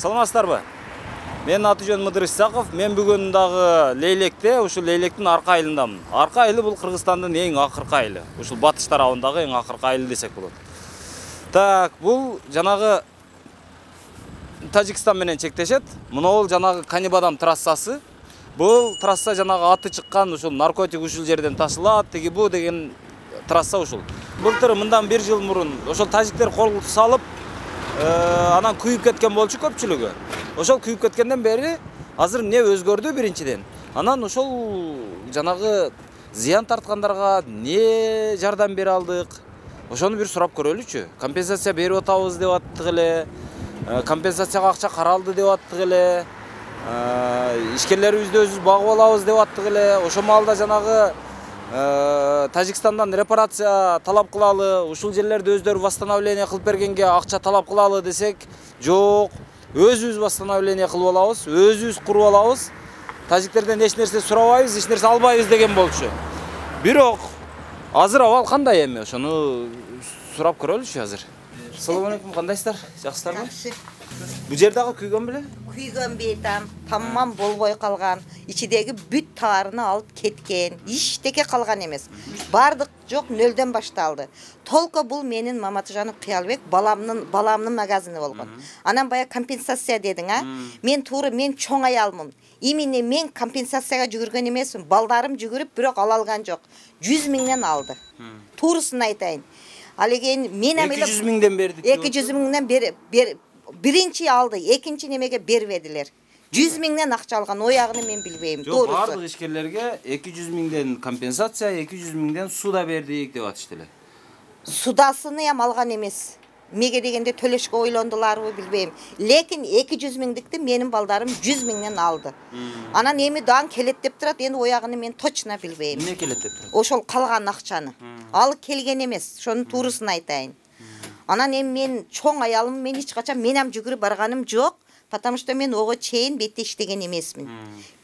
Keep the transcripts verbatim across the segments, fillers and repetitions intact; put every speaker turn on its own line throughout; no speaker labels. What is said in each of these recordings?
Саламатсыздарбы? Мен Атыжон Мыдыр Исаков. Мен бүгүн дагы Лейлекте, ушул Лейлектин арка айылындамын. Арка айылы бул Кыргызстандын эң акыркы айылы. Ушул батыш тарабындагы эң акыркы айыл десек болот. Так, бул жанагы Тажикстан менен чектешет. Мынау жанагы Канибадам трассасы. Бул трасса жанагы аты чыккан ушул наркотик ушул жерден ташылат, тиги бу деген трасса ушул. Былтыр мындан бир жыл мурун ошол тажиктер кол салып, анан күйүп кеткен болчу көпчүлүгү. Ошол күйүп кеткенден бери азыр эмне өзгөрдү биринчиден? Анан ошол жанагы зыян тарткандарга эмне жардам бере алдык? Ошону бир сурап көрөлүчү. Компенсация берип атабыз деп аттык эле. Компенсацияга акча каралды деп аттык эле. Ишкерлерибизди өзүбүз багып алабыз деп аттык эле. Ошо маалда жанагы Тажикстандан репарация талап кылалы, ушул жерлерди өздөрү восстановление кылып бергенге акча талап кылалы десек, жок. Өзүбүз восстановление кылып алабыз, өзүбүз куруп алабыз. Тажиктерден эч нерсе сурабайбыз, эч нерсе албайбыз деген болчу. Бирок азыр абал кандай эми? Ошону сурап көрөлүчү азыр. Assalamu alaikum, кандайсыздар? Жакшысыздарбы?
Жакшы.
Бул жер дагы күйгөн беле?
Күйгөн бейтам, тамам болбой калган. Ичидеги бүт таарыны алып кеткен. Иштеке калган эмес. Бардык жок, нөлдөн башталды. Толко бул менин Маматжанов Кыялбек баламдын баламдын магазини болгон. Анан бая компенсация дедиң, а? Мен туура мен чоң аялмын. Именно мен компенсацияга жүгүргөн эмесмин. Балдарым жүгүрүп, бирок ала алган жок. жүз миңден алды. Турусын айтайын. Ал эген мен
эки жүз миңден бердик.
эки жүз миңден бер биринчи алды, экинчи немеге бербедилер. жүз миңден акча алган, оягын мен билбейм.
Жок, бардык ишкерлерге эки жүз миңден компенсация, эки жүз миңден суда бердик деп атышты эле.
Судасыны ham алган эмес. Меге дегенде төлөшкө ойлондуларбы билбейм. Лекин эки жүз миңдикти менин балдарым жүз миңден алды. Анан эми дан келет деп турат, эми оягын мен точно билбейм.
Эмне келет деп турат?
Ошол калган акчаны. Алып келген эмес, ошонун туурусын айтайын. Анан эми мен чоң аялым, мен эч качан мен ham жүгүрүп барганым жок, потому что мен ого чейин бетте иштеген эмесмин.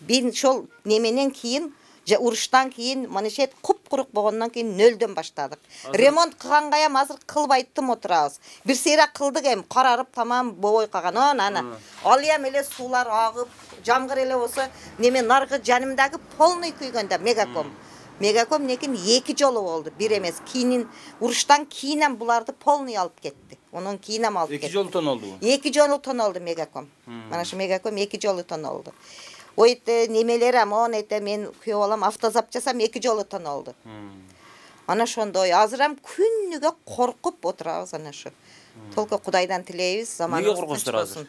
Мен ошол неменен кийин, уруштан кийин манешет куп-курук болгондон кийин нөлдөн баштадык. Ремонт кылганга ham азыр кылбай тым отурабыз. Бир сейра кылдык эми, карарып тамам болбой калган. Ана ал эм эле суулар агып, жамгыр эле болсо, неме наркы жанымдагы полный күйгөндө мегаком. Мегаком некин эки жолу болду, бир эмес. Кийин уруштан кийин буларды полный алып кетти. Онун кийин алып кетти.
эки жолу тонолдубу?
эки жолу тонолду мегаком. Мана шу мегаком эки жолу тонолду. Ойте немелер амон эте мен күйөө балам автозап жасам эки жолу тонолду. Ана ошондой азыр ham күнүгө коркуп отурабыз ана шу. Толко Кудайдан тилейбиз, заманыбыз.
Эмнеге коркосуңдар азыр?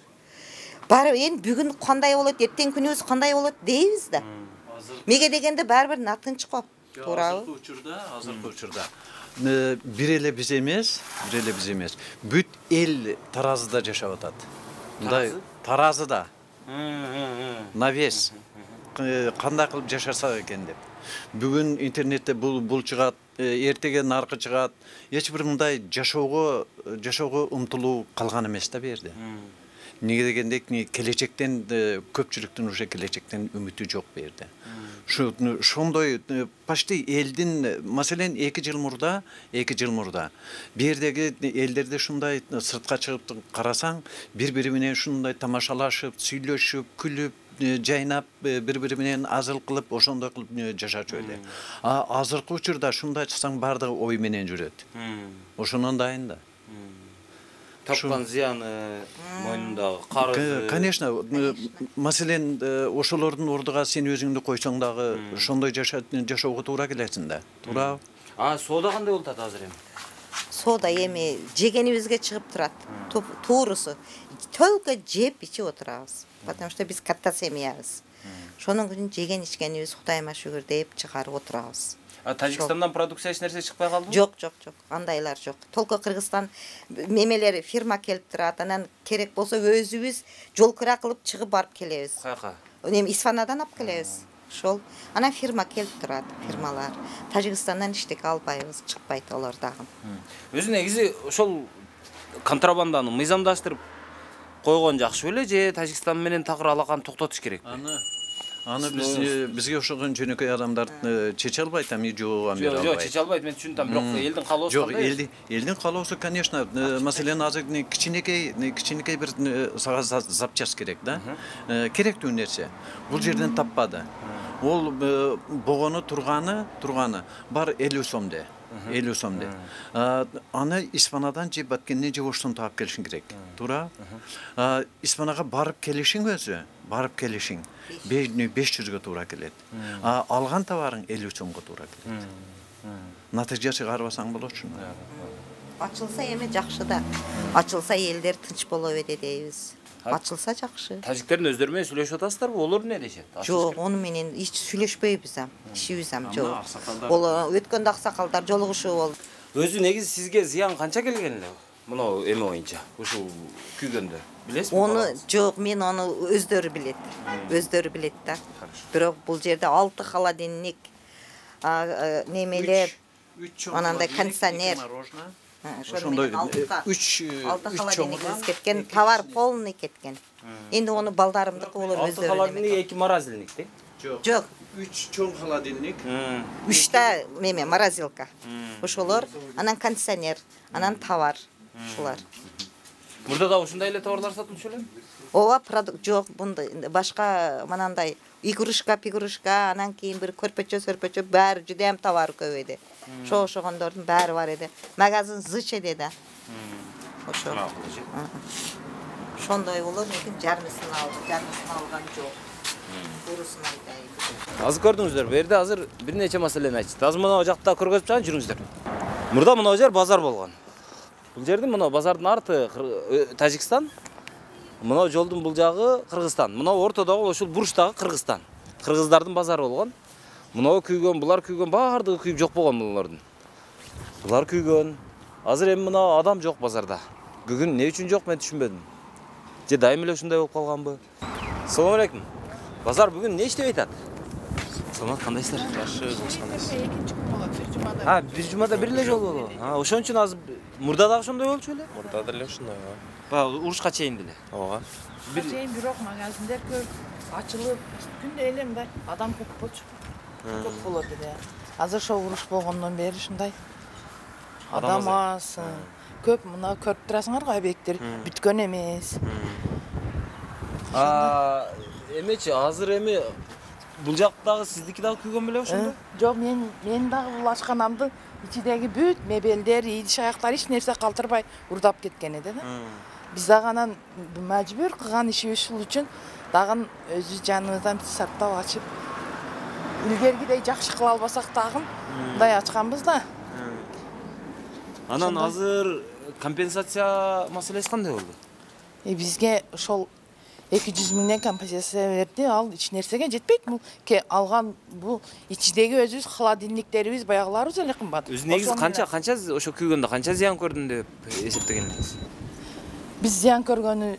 Баары эми бүгүн кандай болот, эртең күнүбүз кандай болот дейбиз да. Меге дегенде баары бир натынч го. Туурабы?
Азыркы учурда, азыркы учурда бир эле биз эмес, бир эле биз эмес. Бүт эл Таразыда жашап атат. Мындай Таразыда. Навес. Кандай кылып жашаса экен деп. Бүгүн интернетте бул бул чыгат, эртеге наркы чыгат. Эч бир мындай жашоого, жашоого умтулуу калган эмес да берди. Неге дегенде келечектен көпчүлүктүн уже келечектен үмүтү жок берди. Ошондой почти элдин, маселен эки жыл мурда, эки жыл мурда бердеги элдерде шундай сыртка чыгып карасаң, бири-бири менен шундай тамашалашып, сүйлөшүп, күлүп, жайнап, бири-бири менен азыл кылып, ошондой кылып жашачу эле. А азыркы учурда шундай чыксаң бардыгы ой менен жүрөт. Ошонун дайын да.
Тапкан зыяны, мойнундагы карызы.
Конечно, маселен ошолордун ордуга сен өзүңдү койсоң дагы ошондой жашоого туура келесиң да. Туура.
А соода кандай болот азыр эми?
Соода эми жегенибизге чыгып турат. Туурусу. Только жеп ичип отурабыз. Потому что биз катта семьябыз. Ошонун күнүн жеген ичкенибиз Кудайыма шүгүр деп чыгарып отурабыз.
А Тажикстандан продукция эч нерсе чыкпай калдыбы?
Жок, жок, жок. Андайлар жок. Толко Кыргызстан мемелери фирма келип турат. Анан керек болсо өзүбүз жол кыра кылып чыгып барып келебиз.
Каяка?
Эми Исфанадан алып келебиз. Ошол. Анан фирма келип турат, фирмалар. Тажикстандан иштек албайбыз, чыкпайт алар дагы.
Өзү негизи ошол контрабанданы мыйзамдаштырып койгон жакшы беле же Тажикстан менен такыр алаканы токтотуш керекпи?
Аны Аны биз бизге окшогон жөнөкөй адамдар чече албайт, эми жоого бере албайт.
Жок, чече албайт, мен түшүнөм, бирок элдин каалоосу
Жок,
кандай?
элдин элдин каалоосу, конечно, маселен азыр кичинекей кичинекей бир сага запчасть керек да. Керектүү нерсе. Бул жерден таппады. Ол богону турганы, турганы бар элүү сомде. элүү сомде. Аны Испанадан же Баткенден же Оштон таап келишиң керек. Туура? Испанага барып келишиң өзү, барып келишиң беш жүзгө туура келет. Алган товарың элүү сомго туура келет. Натыйжа чыгарбасаң болочу.
Ачылса эми жакшы да. Ачылса элдер тынч боло берет дейбиз. Ачылса жакшы.
Тажиктердин өздөрү менен сүйлөшүп атасыздарбы? Олор эмне дешет?
Жок, ону менен эч сүйлөшпөйбүз ам. Ишибиз ам жок. Ол өткөндө аксакалдар жолугушуу болду.
Өзү негизи сизге зыян канча келген эле? Мына эме боюнча, ушул күйгөндө. Билесизби?
Ону жок, мен ону өздөрү билет. Өздөрү билет да. Бирок бул жерде алты холодильник, немелеп, анандай кондиционер.
Ошондой үч
алты холодильник кеткен, товар полный кеткен. Энди ону балдарымдыкы болор өздөрү.
алты холодильник, эки морозильник де?
Жок.
үч чоң холодильник,
үчтө неме морозилка. Ошолор, анан кондиционер, анан товар. Ушулар.
Мурда да ушундай эле товарлар сатылчу эле?
Ооба, продукт жок, мындай башка манандай игрушка, пигрушка, анан кийин бир көрпөчө, сөрпөчө баары жудам товар көбөйдү. Ошо ошогондордун баары бар эди. Магазин зыч эди да. Ошо. Ошондой болот, лекин жармысын алды, жармысын алган жок. Турусын айтайын.
Азыр көрдүңүздөр, бу жерде азыр бир нече маселени айтышты. Азыр мына жакта көргөзүп чыган жүрүңүздөр. Мурда мына жер базар болгон. Бул жердин мына базардын арты Тажикстан, мына жолдун бул жагы Кыргызстан. Мына ортодогу ошол бурчтагы Кыргызстан. Кыргыздардын базары болгон. Мына күйгөн, булар күйгөн, баардыгы күйүп жок болгон булардын. Булар күйгөн. Азыр эми мына адам жок базарда. Бүгүн эмне үчүн жок, мен түшүнбөдүм. Же дайым эле ушундай болуп калганбы? Assalomu alaykum. Bozor bugun ne ishlab aytadi? Саламат, кандайсыздар?
Жакшы, өзүңүз кандайсыз? Экинчи күн болот, бир жумада.
Ha, bir jumada bir эле жолу болду. Ha, ошон үчүн азыр мурда дагы ошондой болчу эле?
Мурда деле ушундай, ооба.
Баягы урушка чейин деле.
Ооба.
Бир
чейин бирок магазиндер көп ачылып, күндө эле мындай адам көп болчу. Көп болот эле. Азыр ошо уруш болгондон бери ушундай адам аз. Көп мына көрүп турасыңар го объекттер бүткөн эмес.
А, эмечи, азыр эми бул жактагы сиздики дагы күйгөн беле ошондо?
Жок, мен мен дагы бул ашканамдын ичидеги бүт мебелдер, идиш аяктар эч нерсе калтырбай урдап кеткен эди да. Биз дагы анан мажбүр кылган ишибиз ушул үчүн дагы өзү жаныбыздан саттап ачып илгергидей жакшы кыла албасак дагы мындай ачканбыз да.
Анан азыр компенсация маселеси кандай болду?
E бизге ошол эки жүз миңден компенсация берди, ал эч нерсеге жетпейт. Бул ке алган бул ичидеги өзүбүз холодильниктерибиз баягыларыбыз эле кымбат.
Өзү негизи канча канча ошо күйгөндө канча зыян көрдүм деп эсептегендиңиз?
Биз зыян көргөнү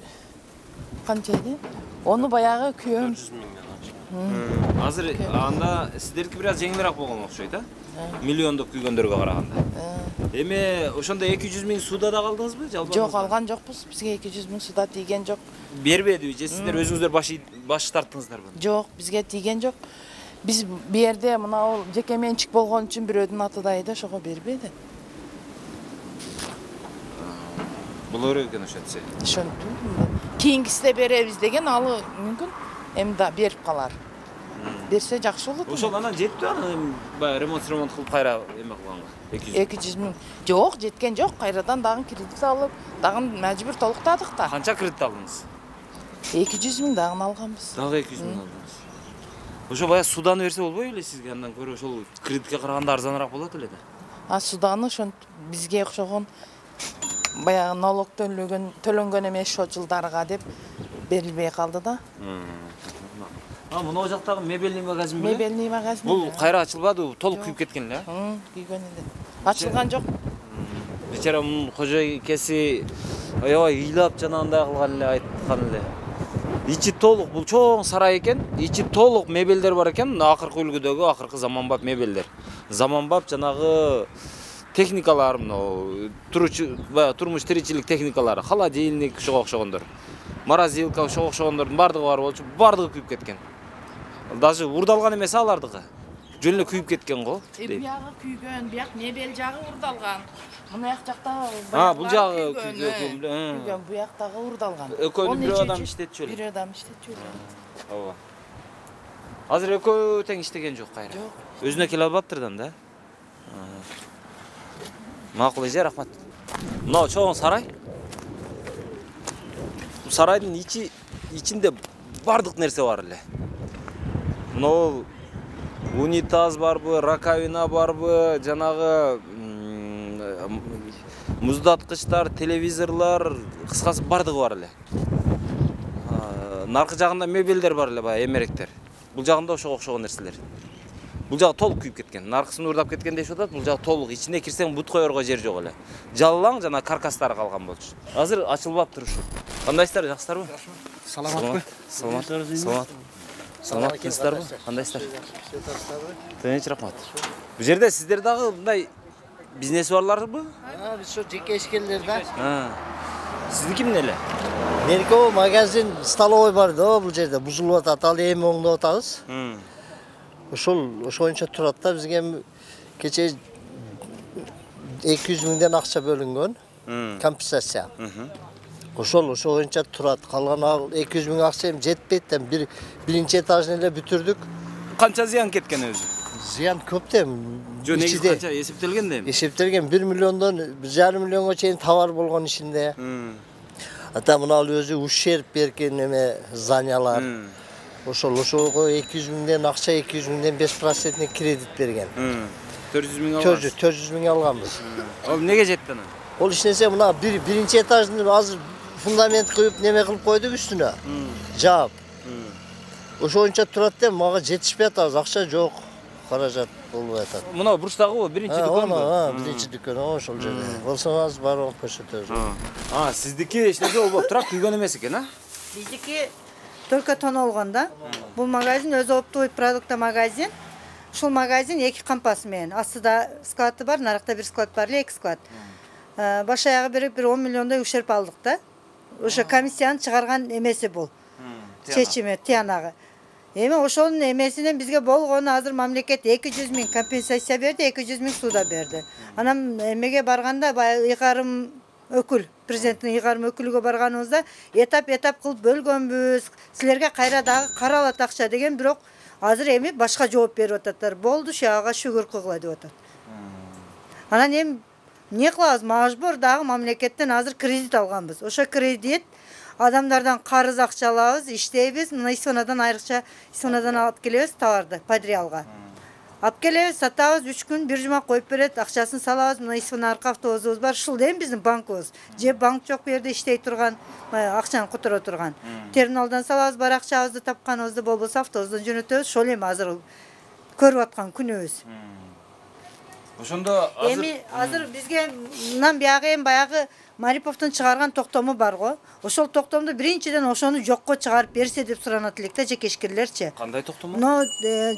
канча эди? Ону баягы күйөм.
төрт жүз миңден ачык.
Азыр анда сиздердики бир аз жеңилирээк болгон окшойт, а? Миллиондук күйгөндөргө караганда. Эми ошондо эки жүз миң сууда да калдыңызбы? Жалпы?
Жок, алган жокпуз. Бизге эки жүз миң суда тийген жок.
Бербедиби же сиздер өзүңүздөр баш баш тарттыңыздарбы?
Жок, бизге тийген жок. Биз бу жерде мына ол жеке менчик болгон үчүн бирөөдүн атыда эди, ошого бербеди.
Болор экен ошентсе.
Ошентип. Кийинкисиде беребиз деген алы мүмкүн. Эми да берип калар. Берсе жакшы болот.
Ошол анан жетпи аны баягы ремонт ремонт кылып кайра эме кылганга.
эки жүз миң. Жок, жеткен жок. Кайрадан дагы кредит алып, дагы мажбүр толуктадык да.
Канча кредит алдыңыз?
эки жүз миң дагы алганбыз.
Дагы эки жүз миң алдыңыз. Ошо баягы суданы берсе болбойбу эле сизге? Андан көрө ошол кредитке караганда арзаныраак болот эле да.
А суданы ошон бизге окшогон баягы налог төлөгөн төлөнгөн эмес ошо жылдарга деп берилбей калды да.
А, мына жактагы мебельный магазин беле?
Мебельный магазин.
Бул кайра ачылбады, толук күйүп кеткен эле, а?
Күйгөн эле. Ачылган жок.
Бечара мунун кожойкеси аябай ыйлап жана андай кылган эле, айткан эле. Ичи толук, бул чоң сарай экен, ичи толук мебелдер бар экен, мына акыркы үлгүдөгү акыркы заманбап мебелдер. Заманбап жанагы техникалар, мына туручу, баягы турмуш тиричилик техникалары, холодильник, ошого окшогондор. Морозилка, ошого окшогондордун бардыгы бар болчу, бардыгы күйүп кеткен. Даже урдалган эмес алардыкы. Жөн эле күйүп кеткен го.
Биягы күйгөн, бияк мебель жагы урдалган. Мына жакта
А, бул жагы күйгөн.
Күйгөн, бу жактагы урдалган.
Экөөнү бир адам иштетчү эле.
Бир адам иштетчү эле.
Ооба. Азыр экөө тең иштеген жок кайра.
Жок.
Өзүнө келе албаптырдан да. Макул эже, рахмат. Мына чоң сарай. Бул сарайдын ичи ичинде бардык нерсе бар эле. Мына унитаз барбы, раковина барбы, жанагы муздаткычтар, телевизорлор, кыскасы бардыгы бар эле. Наркы жагында мебелдер бар эле, баягы эмеректер. Бул жагында ошого окшогон нерселер. Бул жагы толук күйүп кеткен. Наркысын урдап кеткен дешип атат. Бул жагы толук. Ичине кирсең бут коерго жер жок эле. Жаллаң жана каркастары калган болчу. Азыр ачылбаптыр ушу. Кандайсыздар, жакшысыздарбы?
Саламатпы?
Саламат. Саламат. Саламатсыздарбы? Кандайсыздар? Тынч, рахмат. Бул жерде сиздер дагы мындай бизнес барларбы?
А, биз ошо жеке ишкерлер да.
Сиздики эмне эле?
Меники магазин, столовой бар да бул жерде. Бузулуп атат, ал эми оңдоп атабыз. Ошол ошоюнча турат да, бизге кече эки жүз миңден акча бөлүнгөн. Компенсация. Ошол ошоюнча турат. Калган эки жүз миң акча эми жетпейт да. Бир биринчи этажын эле бүтүрдүк.
Канча зыян кеткен өзү?
Зыян көп да.
Жөн негизи канча эсептелген да эми?
Эсептелген бир миллиондон бир жарым миллионго чейин товар болгон ичинде. Ата мына өзү ущерб берген эме зданиялар. Ошол ошого эки жүз миңден акча, эки жүз миңден беш процентный кредит берген.
төрт жүз миң алганбыз.
төрт жүз миң алганбыз.
Ал эмнеге жетти анан?
Ол ишнесе мына бир биринчи этажды азыр фундамент кыйып неме кылып койдук үстүнө. Жаап. Ошоюнча турат да, мага жетишпей атабыз, акча жок. Каражат болуп атат.
Мына бурчтагы биринчи дүкөн.
А, биринчи дүкөн ошол жерде. Болсоңуз барып көрсөтөбүз.
А, сиздики эчнеге болбоп турат, күйгөн эмес экен, а?
Биздики только тонолгон да. Бул магазин өзү оптовый продукта магазин. Ушул магазин эки кампасы менен. Астыда склады бар, нарыкта бир склад бар эле, эки склад. Баш аягы берип бир он миллиондой ущерб алдык да. Ошо комиссияны чыгарган эмеси бул. Чечими, тиянагы. Эми ошонун эмесинен бизге болгону азыр мамлекет эки жүз миң компенсация берди, эки жүз миң суда берди. Анан эмеге барганда баягы ыйгарым өкүл, президенттин ыйгарым өкүлүгө барганыбызда этап-этап кылып бөлгөнбүз. Силерге кайра дагы каралат акча деген, бирок азыр эми башка жооп берип ататтар. Болду, шага шүгүр кылгыла деп атат. Анан эми эмне кылабыз? Мажбур дагы мамлекеттен азыр кредит алганбыз. Ошо кредит адамдардан карыз акча алабыз, иштейбиз. Мына исонадан айрыкча исонадан алып келебиз товарды, подреалга. Алып келебиз, сатабыз, үч күн, бир жума коюп берет, акчасын салабыз. Мына исона арка автобусубуз бар, ушул эми биздин банкыбыз. Же банк жок бу жерде иштей турган, акчаны которо турган. Терминалдан салабыз, бар акчабызды тапканыбызды, болбосо автобустан жөнөтөбүз. Ошол эми азыр көрүп аткан күнүбүз.
Ошондо азыр
эми азыр бизге мындан биягы эми баягы Мариповдун чыгарган токтому бар го. Ошол токтомду биринчиден ошону жокко чыгарып берсе деп суранат элек да, жеке ишкерлерчи.
Кандай токтом?
Но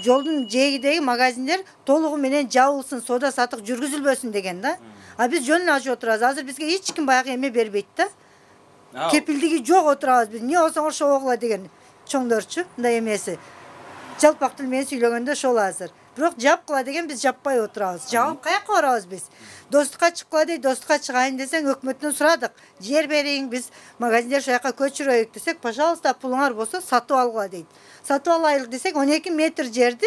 жолдун жээгидеги магазиндер толугу менен жабылсын, соода сатык жүргүзүлбөсүн деген да. А биз жөн эле ачып отурабыз. Азыр бизге эч ким баягы эме бербейт да. Кепилдиги жок отурабыз биз. Эмне болсоң ошо огула деген чоңдорчу, мындай эмеси. Жалпак тил менен сүйлөгөндө ошол азыр. Бирок жапкыла деген биз жаппай отурабыз. Жабып каяка барабыз биз? Достукка чыккыла дейт, достукка чыгайын десең өкмөттөн сурадык. Жер бериң, биз магазиндер ошол жака көчүрөйүк десек, пожалуйста, пулуңар болсо сатып алгыла дейт. Сатып алайлык десек, он эки метр жерди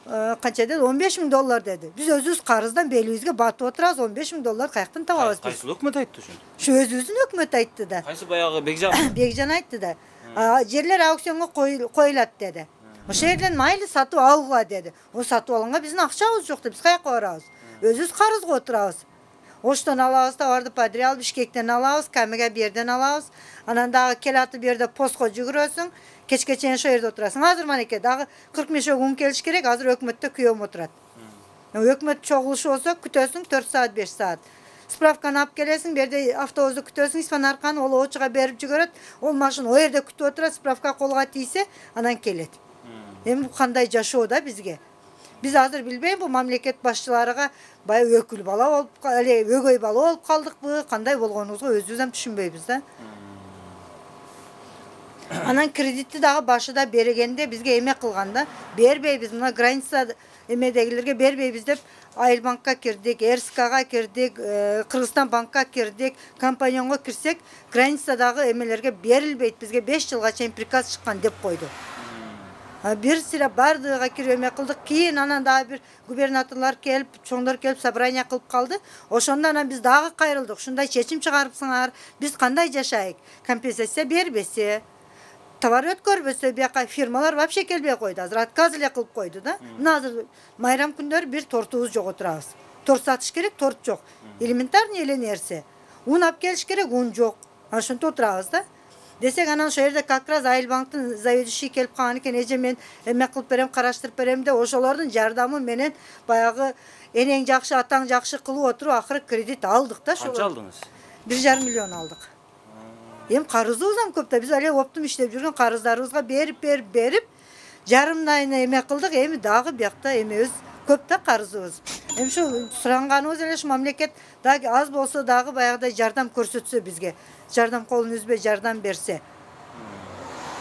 канча деди? он беш миң доллар деди. Биз өзүбүз карыздан белибизге батып отурабыз, он беш миң доллар каяктан табабыз биз?
Кайсы өкмөт айтты ошону?
Ушу өзүбүздүн өкмөт айтты да.
Кайсы баягы Бекжан?
Бекжан айтты да. Жерлер аукционго коюлат деди. Ошол жерден майлы сатып алгыла деди. О сатып алганга биздин акчабыз жок да, биз каяка барабыз? Өзүбүз карызга отурабыз. Оштон алабыз, товарды подреал, Бишкектен алабыз, Камега бу жерден алабыз. Анан дагы келатып бу жерде постко жүгүрөсүң, кечке чейин ошол жерде отурасың. Азыр манеке дагы кырк мешок ун келиш керек, азыр өкмөттө күйөөм отурат. Өкмөт чогулушу болсо күтөсүң төрт саат, беш саат. Справканы алып келесиң, бу жерде автобусту күтөсүң, испанарканы ол очуга берип жүгөрөт. Ол машина о жерде күтүп отурат, справка колго тийсе, анан келет. Эми кандай жашоо да бизге? Биз азыр билбейм, бу мамлекет башчыларыга баягы өкүл бала болуп, эле өгөй бала болуп калдыкпы, кандай болгонубузду өзүбүз ham түшүнбөйбүз да. Анан кредитти дагы башыда бергенде бизге эме кылганда бербейбиз, мына граница эмедегилерге бербейбиз деп Айылбанкка кирдик, РСКга кирдик, Кыргызстан банкка кирдик, компаньонго кирсек, границадагы эмелерге берилбейт, бизге беш жылга чейин приказ чыккан деп койду. Бир сыра бардыгыга кирип эме кылдык, кийин анан дагы бир губернаторлор келип, чоңдор келип собрание кылып калды. Ошондо анан биз дагы кайрылдык. Ушундай чечим чыгарыпсыңар, биз кандай жашайык? Компенсация бербесе, товар өткөрбөсө, бияка фирмалар вообще келбей койду. Азыр отказ эле кылып койду да. Мына азыр майрам күндөрү бир тортубуз жок отурабыз. Торт сатыш керек, торт жок. Элементарный эле нерсе. Un алып келиш керек, un жок. Ошентип отурабыз да. Десек анан ошол жерде как раз Айылбанктын заведующий келип калган экен, эже мен эме кылып берем, караштырып берем деп ошолордун жардамы менен баягы энең жакшы, атаң жакшы кылып отуруп акыры кредит алдык да.
Канча алдыңыз?
бир жарым миллион алдык. Эми карызыбыз ham көп да, биз эле оптум иштеп жүргөн карыздарыбызга берип берип берип жарымдайына эме кылдык, эми дагы биякта эмебиз көп да карызыбыз. Эми ушу суранганыбыз эле ушу мамлекет дагы аз болсо дагы баягыдай жардам көрсөтсө бизге, жардам колун үзбөй жардам берсе.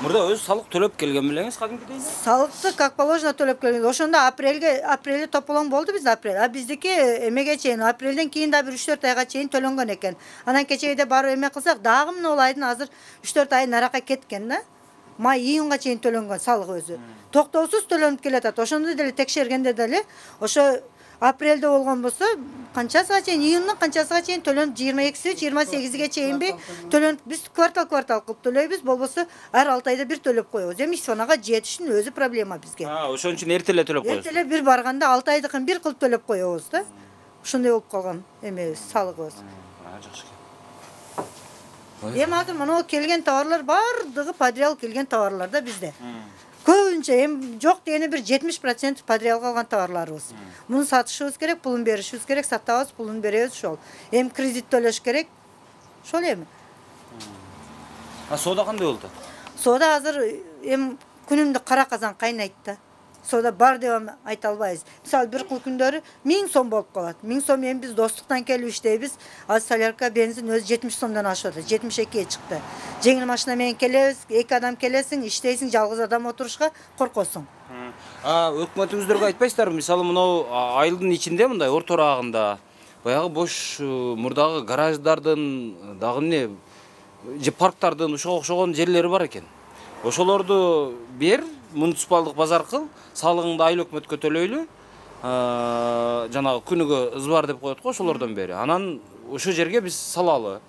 Мурда өз салык төлөп келген белеңиз кадимкидей?
Салыкты как положено төлөп келген. Ошондо апрелге апрелде тополоң болду биз апрель. А биздики эмеге чейин апрелден кийин да бир үч төрт айга чейин төлөнгөн экен. Анан кечеде барып эме кылсак, дагы мына ол айдын азыр үч төрт ай наракка кеткен да. Май июнга чейин төлөнгөн салык өзү. Токтоосуз төлөнүп келатат. Ошондо деле текшергенде деле ошо апрелде болгон болсо, канчасыга чейин, июндун канчасыга чейин төлөнүп, жыйырма экиси, жыйырма сегизиге чейинби төлөнүп, биз квартал квартал кылып төлөйбүз, болбосо ар алты айда бир төлөп коебуз. Эми ишсонага жетишин өзү проблема бизге.
А, ошон үчүн эрте эле төлөп коесуз.
Эрте эле бир барганда алты айдыкын бир кылып төлөп коебуз да. Ошондой болуп калган эмебиз, салыгыбыз.
Жакшы.
Эми азыр мына келген товарлар бардыгы подреал келген товарлар да бизде. Көбүнчө эми жок дегене бир жетимиш процент подреалга алган товарларыбыз. Муну сатышыбыз керек, пулун беришибиз керек, сатабыз, пулун беребиз ошол. Эми кредит төлөш керек. Ошол эми.
А соода кандай болду?
Соода азыр эми күнүмдү кара казан кайнайт да. Соода бар деп айта албайбыз. Мисалы бир кыл күндөрү миң сом болуп калат. миң сом эми биз достуктан келип иштейбиз. Азыр солярка, бензин өзү жетимиш сомдон ашып атат. жетимиш экиге чыкты. Жеңил машина менен келебиз, эки адам келесиң, иштейсиң, жалгыз адам отурушка коркосуң.
А өкмөтүңүздөргө айтпайсыздарбы? Мисалы мынау айылдын ичинде мындай орто орагында баягы бош мурдагы гараждардын, дагы эмне же парктардын ушуга окшогон жерлери бар экен. Ошолорду бер, муниципалдык базар кыл, салыгыңды айыл өкмөткө төлөйлү. Жанагы күнүгө ызбар деп коет го, ошолордон бери. Анан ошол жерге биз салалы.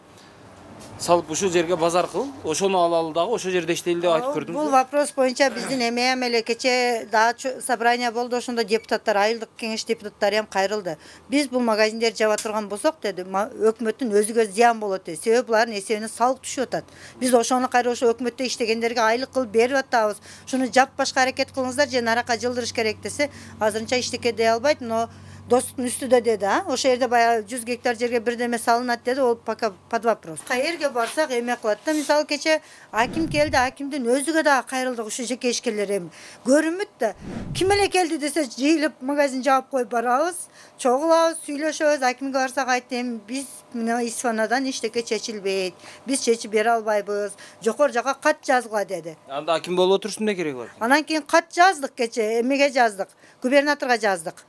Салып ушул жерге базар кыл, ошону алалы дагы ошол жерде иштейли деп айтып көрдүм.
Бул вопрос боюнча биздин эме эле кече дагы собрание болду, ошондо депутаттар, айылдык кеңеш депутаттары ham кайрылды. Биз бул магазиндерди жаба турган болсок деди, өкмөттүн өзүгө зыян болот деди. Себеби булардын эсебине салык түшүп атат. Биз ошону кайра ошо өкмөттө иштегендерге айлык кылып берип атабыз. Шуну жаппашка аракет кылыңыздар же наракка жылдырыш керек десе, азырынча иштеке дей албайт, но достуктун үстүдө деди, а? Ошол жерде баягы жүз гектар жерге бирдеме салынат деди, ол пока под вопрос. Кайерге барсак эме кылат да, мисалы кече аким келди, акимдин өзүгө дагы кайрылдык, ушу жеке ишкерлер эми. Көрүнбөйт да. Ким эле келди десе, жыйылып магазин жаап коюп барабыз, чогулабыз, сүйлөшөбүз, акимге барсак айтты, эми биз мына исфанадан иштеке чечилбейт. Биз чечип бере албайбыз. Жокор жака кат жазгыла деди.
Анда аким болуп отурушун эмне кереги бар?
Анан кийин кат жаздык кече, эмеге жаздык, губернаторго жаздык.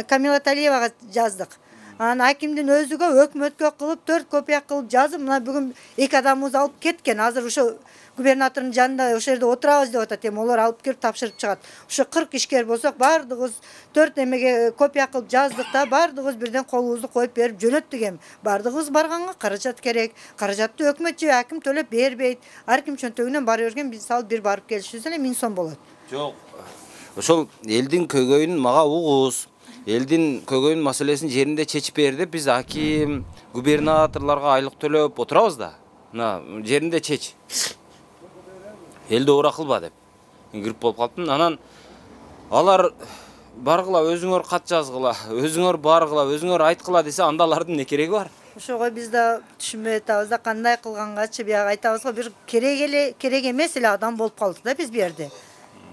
Камила Талиевага жаздык. Анан акимдин өзүгө өкмөткө кылып төрт копия кылып жазып, мына бүгүн эки адамыбыз алып кеткен. Азыр ошо губернатордун жанында ошол жерде отурабыз деп атат. Эми олар алып келип тапшырып чыгат. Ошо кырк ишкер болсок, бардыгыбыз төрт эмеге копия кылып жаздык да, бардыгыбыз бирден колубузду коюп берип жөнөттүк эми. Бардыгыбыз барганга каражат керек. Каражатты өкмөт же аким төлөп бербейт. Ар ким чөнтөгүнөн бара берген, биз ал бир барып келишибиз эле миң сом болот.
Жок. Ошол элдин көйгөйүн мага угуз. Элдин көйгөйүн маселесин жеринде чечип бер деп биз аким, губернаторлорго айлык төлөп отурабыз да. Мына жеринде чеч. Элди ора кылба деп. Кирип болуп калыптын. Анан алар баргыла, өзүңөр кат жазгыла, өзүңөр баргыла, өзүңөр айткыла десе, анда алардын эмне кереги бар?
Ошого биз да түшүнбөй атабыз да, кандай кылгангачы бияга айтабыз го, бир керек эле, керек эмес эле адам болуп калдык да биз бу жерде.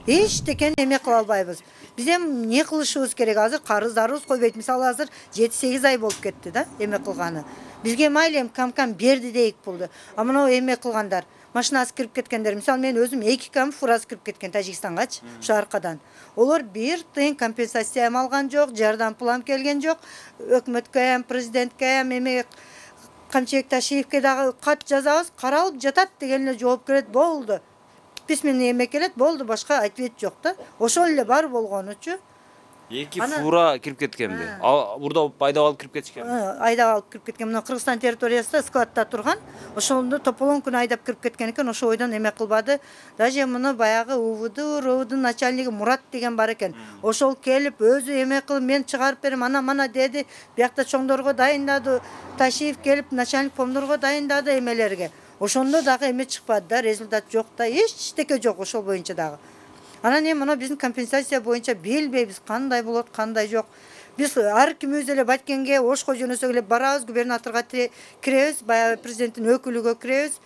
Эчтекен эме кыла албайбыз. Биз эми эмне кылышыбыз керек? Азыр карыздарыбыз койбойт. Мисалы азыр жети сегиз ай болуп кетти да эме кылганы. Бизге майли эми кам-кам берди дейик пулду. А мына эме кылгандар,
машинасы кирип кеткендер. Мисалы мен өзүм эки кам фурасы кирип кеткен Тажикстангачы, ушу аркадан. Олар бир тыйын компенсация алган жок, жардам пулам келген жок. Өкмөткө, президентке, эме Камчыбек Ташиевке дагы кат жазабыз, каралып жатат деген эле жооп келет, болду. Письменный эме келет, болду, башка ответ жок да. Ошол эле бар болгонучу.
Эки фура кирип кеткенби? Бурда айдап алып кирип кетишкен.
Айдап алып кирип кеткен. Мына Кыргызстан территориясында складта турган. Ошондо тополон күн айдап кирип кеткен экен. Ошо ойдон эме кылбады. Даже муну баягы УВД, РОВДун начальниги Мурат деген бар экен. Ошол келип өзү эме кылып мен чыгарып берем, ана-мана деди. Биякта чоңдорго дайындады. Ташиев келип начальник помдорго дайындады эмелерге. Ошондо дагы эме чыкпады да, результат жок да, эчтеке жок ошол боюнча дагы. Анан эми мына биздин компенсация боюнча билбейбиз кандай болот, кандай жок. Биз ар ким өзү эле Баткенге ошко жөнөсөк эле барабыз, губернаторго киребиз, баягы президенттин өкүлүгө киребиз.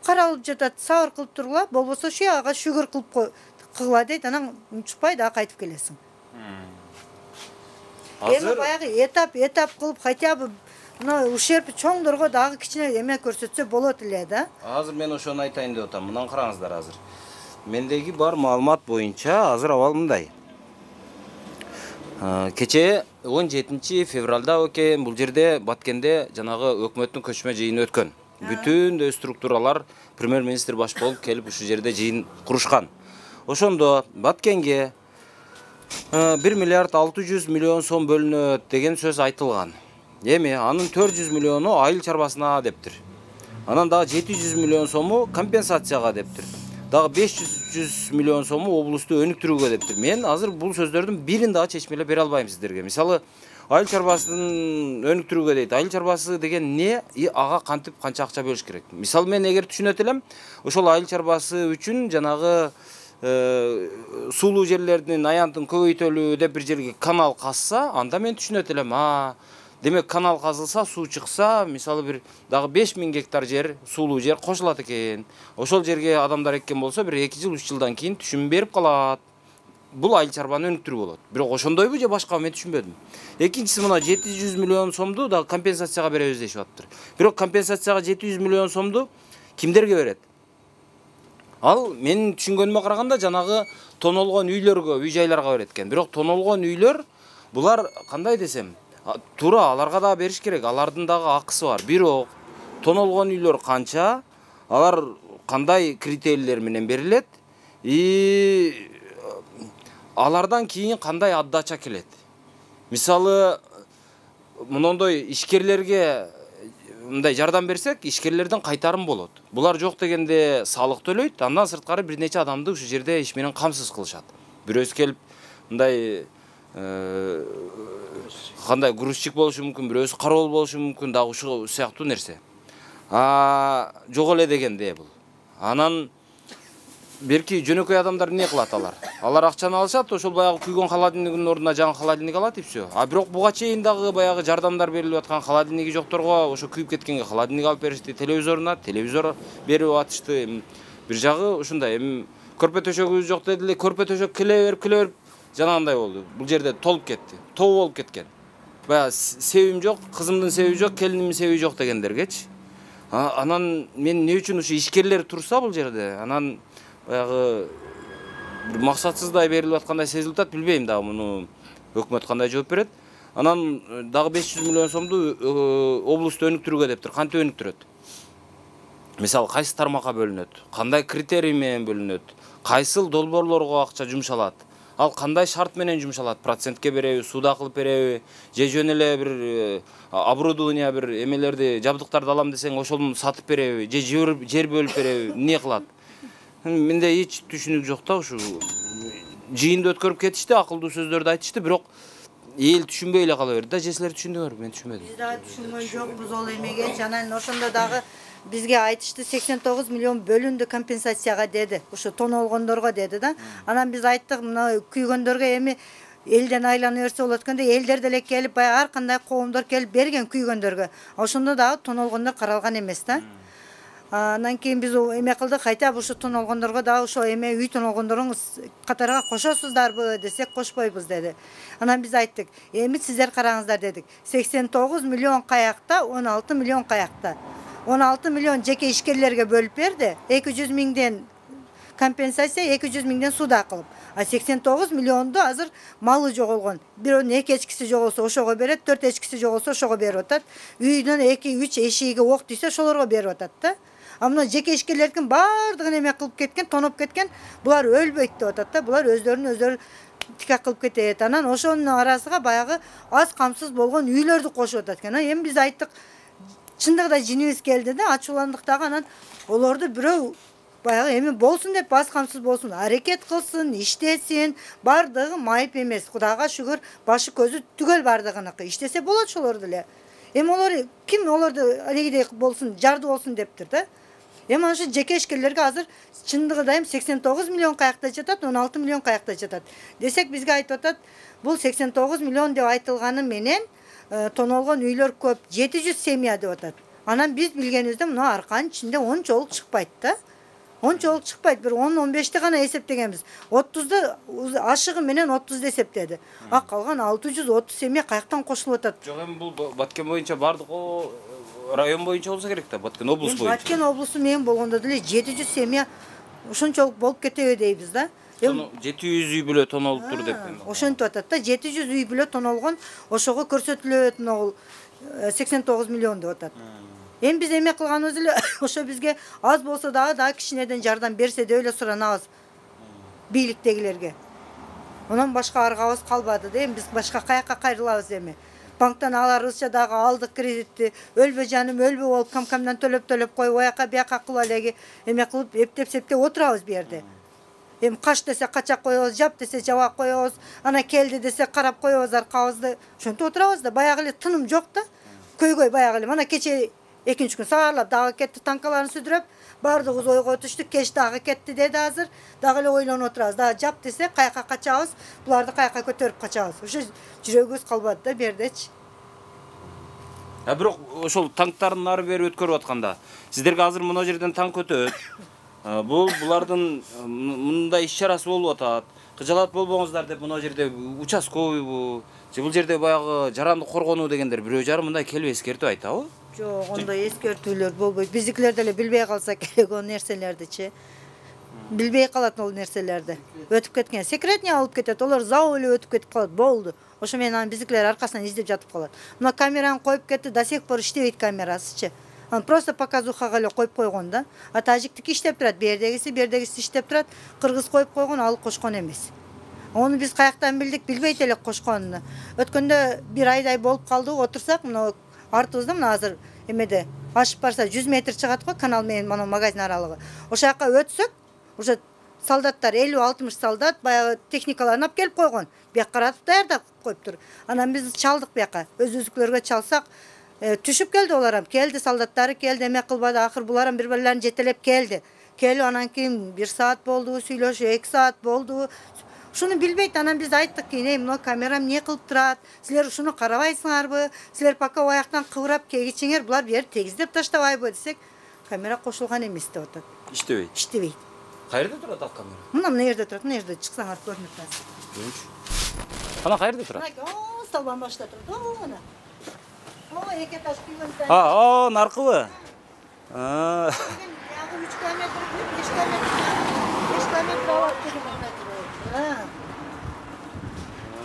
Каралып жатат, сабыр кылып тургула, болбосо шу ага шүгүр кылып кылгыла дейт, анан унчукпай дагы кайтып келесиң. Эми баягы этап этап кылып хотя бы мына ушерп чоңдорго дагы кичине эме көрсөтсө болот эле да.
Азыр мен ошону айтайын деп атам. Мындан караңыздар азыр. Мендеги бар маалымат боюнча азыр абал мындай. Кече он жетинчи февралда экен бул жерде Баткенде жанагы өкмөттүн көчмө жыйыны өткөн. Бүтүн дө структуралар премьер-министр баш болуп келип ушу жерде жыйын курушкан. Ошондо Баткенге бир миллиард алты жүз миллион сом бөлүнөт деген сөз айтылган. Эми анын төрт жүз миллиону айыл чарбасына дептир. Анан дагы жети жүз миллион сому компенсацияга дептир. Дагы беш жүз миллион сому облусту өнүктүрүүгө дептир. Мен азыр бул сөздөрдүн бирин дагы чечмелеп бере албайм сиздерге. Мисалы, айыл чарбасын өнүктүрүүгө дейт. Айыл чарбасы деген не? И ага кантип канча акча бөлүш керек? Мисалы, мен эгер түшүнөт элем, ошол айыл чарбасы үчүн жанагы суулуу жерлердин аянтын көбөйтөлүү деп бир жерге канал казса, анда мен түшүнөт элем. А, демек канал казылса, суу чыкса, мисалы бир дагы беш миң гектар жер, суулуу жер кошулат экен. Ошол жерге адамдар эккен болсо, бир эки жыл, үч жылдан кийин түшүм берип калат. Бул айыл чарбаны өнүктүрүү болот. Бирок ошондойбу же башка, мен түшүнбөдүм. Экинчиси мына жети жүз миллион сомду дагы компенсацияга беребиз дешип атыптыр. Бирок компенсацияга жети жүз миллион сомду кимдерге берет? Ал менин түшүнгөнүмө караганда жанагы тонолгон үйлөргө, үй-жайларга берет экен. Бирок тонолгон үйлөр булар кандай десем, туура аларга да бериш керек. Алардын дагы акысы бар. Бирок тонолгон үйлөр канча, алар кандай критерийлер менен берилет? И алардан кийин кандай отдача келет? Мисалы, мындай ишкерлерге мындай жардам берсек, ишкерлерден кайтарым болот. Булар жок дегенде салык төлөйт, андан сырткары бир нече адамды ушу жерде иш менен камсыз кылышат. Бирөөсү келип мындай кандай грузчик болушу мүмкүн, бирөөсү кароол болушу мүмкүн, дагы ушул сыяктуу нерсе. А жок эле дегенде бул. Анан берки жөнөкөй адамдар эмне кылат алар? Алар акчаны алышат, ошол баягы күйгөн холодильниктин ордуна жаңы холодильник алат и всё. А бирок буга чейин дагы баягы жардамдар берилип аткан холодильниги жокторго ошо күйүп кеткенге холодильник алып беришти, телевизоруна телевизор берип атышты. Бир жагы ушундай, эми көрпө төшөгүбүз жок дедиле, көрпө төшөк келе берип, келе берип жанагындай болду. Бул жерде толуп кетти. Тоо болуп кеткен. Баягы себим жок, кызымдын себеби жок, келинимдин себеби жок дегендергечи. Анан мен эмне үчүн ушу ишкерлер турса бул жерде, анан баягы бир максатсыздай берилип аткандай сезилип атат, билбейм дагы муну өкмөт кандай жооп берет. Анан дагы беш жүз миллион сомду облусту өнүктүрүүгө дептир. Кантип өнүктүрөт? Мисалы, кайсы тармакка бөлүнөт? Кандай критерий менен бөлүнөт? Кайсыл долбоорлорго акча жумшалат? Ал кандай шарт менен жумшалат? Процентке береби, суда кылып береби, же жөн эле бир оборудование, бир эмелерди, жабдыктарды алам десең, ошону сатып береби, же жер бөлүп береби, эмне кылат? Менде эч түшүнүк жок да, ушу жыйынды өткөрүп кетишти, акылдуу сөздөрдү айтышты, бирок эл түшүнбөй эле кала берди да. Же силер түшүндүңөрбү? Мен түшүнбөдүм.
Биз дагы түшүнгөн жокпуз ол эмеге. Анан ошондо дагы бизге айтышты сексен тогуз миллион бөлүндү компенсацияга деди. Ушу тонолгондорго деди да. Анан биз айттык, мына күйгөндөргө эми элден айлана берсе болот экен деп, элдер деле келип, баягы ар кандай коомдор келип берген күйгөндөргө. Ошондо дагы тонолгондор каралган эмес да. Анан кийин биз эме кылдык, кайта ушу тонолгондорго дагы ошо эме үй тонолгондордун катарга кошосуздарбы десек, кошпойбуз деди. Анан биз айттык, эми сиздер караңыздар дедик. сексен тогуз миллион каякта, он алты миллион каякта. он алты миллион жеке ишкерлерге бөлүп берди. эки жүз миңден компенсация, эки жүз миңден суда кылып. А сексен тогуз миллионду азыр малы жоголгон. Бирөөнүн эки эчкиси жоголсо ошого берет, төрт эчкиси жоголсо ошого берип атат. Үйдөн эки үч эшиги ок тийсе ошолорго берип атат да. А мына жеке ишкерлердин баардыгын эме кылып кеткен, тоноп кеткен, булар өлбөйт деп атат да. Булар өздөрүнүн өздөрү тикак кылып кетет. Анан ошонун арасыга баягы аз камсыз болгон үйлөрдү кошуп атат экен. Эми биз айттык, чындыгында жинибиз келди да, ачууландык дагы, анан олорду бирөө баягы эми болсун деп аз камсыз болсун, аракет кылсын, иштесин, бардыгы майып эмес. Кудайга шүгүр, башы көзү түгөл бардыгыныкы. Иштесе болот ошолор деле. Эми олор ким олорду алегидей болсун, жарды болсун дептир да. Эми ошо жеке ишкерлерге азыр чындыгында эми сексен тогуз миллион каякта жатат, он алты миллион каякта жатат. Десек бизге айтып атат, бул сексен тогуз миллион деп айтылганы менен тонолгон үйлөр көп, жети жүз семья деп атат. Анан биз билгенибизде мына арканын ичинде ончолук чыкпайт да. Ончолук чыкпайт, бир он он бешти гана эсептегенбиз. отузду ашыгы менен отузду эсептеди. А калган алты жүз отуз семья каяктан кошулуп атат?
Жок, эми бул Баткен боюнча бардык район боюнча болсо керек да, Баткен облус боюнча.
Баткен облусу менен болгондо деле жети жүз семья ошончолук болуп кетеби дейбиз да.
жети жүз үй бүлө тонолуптур деп.
Ошентип атат да, жети жүз үй бүлө тонолгон, ошого көрсөтүлөт могул сексен тогуз миллион деп атат. Эми биз эме кылганыбыз эле ошо бизге аз болсо дагы дагы кичинеден жардам берсе деп эле суранабыз бийликтегилерге. Онан башка аргабыз калбады да, эми биз башка каякка кайрылабыз эми. Банктан аларыбызча дагы алдык кредитти, өлбө жаным өлбө болуп камкамдан төлөп-төлөп коюп, ояка бияка кылып элеги эме кылып эптеп-септеп отурабыз бу жерде. Эми каш десе кача коебуз, жап десе жаба коебуз, ана келди десе карап коебуз аркабызды. Ошентип отурабыз да, баягы эле тыным жок да. Көйгөй баягы эле. Мана кече экинчи күн саарлап дагы кетти, танкаларын сүдүрөп, бардыгыбыз ойго түштүк, кеч дагы кетти деди азыр. Дагы эле ойлонуп отурабыз. Дагы жап десе каяка качабыз, буларды каяка көтөрүп качабыз. Ошо жүрөгүбүз калбады да бердечи.
А бирок ошол танктардын ары бери өткөрүп атканда, сиздерге азыр мына жерден танк өтөт. Бул булардын мындай иш-чарасы болуп атат. Кыжалат болбоңуздар деп мына жерде участковыйбу, же бул жерде баягы жарандык коргонуу дегендер бирөө жарым мындай келип эскертип айтабы?
Жок, ондой эскертүүлөр болбойт. Биздикилер деле билбей калса керек ол нерселердичи. Билбей калат ол нерселерди. Өтүп кеткен, секретный алып кетет, олар зау эле өтүп кетип калат, болду. Ошо менен анан биздикилер аркасынан издеп жатып калат. Мына камераны коюп кетти, до сих пор иштебейт камерасычы. Анан просто показухага эле коюп койгон да. А тажиктики иштеп турат, бердегиси, бердегиси иштеп турат, кыргыз коюп койгон, ал кошкон эмес. Ону биз каяктан билдик, билбейт элек кошконун. Өткөндө бир айдай болуп калды, отурсак, мына артыбызда мына азыр эмеде ашып барса жүз метр чыгат го, канал менен мына магазин аралыгы. Ошол жака өтсөк, уже солдаттар элүү алтымыш солдат баягы техникаларын алып келип койгон. Бияк каратып даярдап коюптур. Анан биз чалдык бияка, өзүбүздүкүлөргө чалсак, түшүп келди олар, келди солдаттары, келди, эме кылбады, акыр булар бири бирлерин жетелеп келди. Келип анан кийин бир саат болду, сүйлөшүп, эки саат болду. Ушуну билбейт, анан биз айттык, "Кийин мына камера эмне кылып турат? Силер ушуну карабайсыңарбы? Силер пока аяктан кыбырап кегичиңер, булар бер тегиздеп таштабайбы?" десек, камера кошулган эмес деп атат.
Иштебейт.
Иштебейт.
Каерде турат ал камера?
Мына мына жерде турат, мына жерде чыксаңар көрүнүп турат.
Ана каерде турат?
О, столбан башта турат. О, мына. О, эки этаж үйгөн.
А, о, наркыбы? А.
Ягы үч километр, беш километр. беш километр алат деген метр.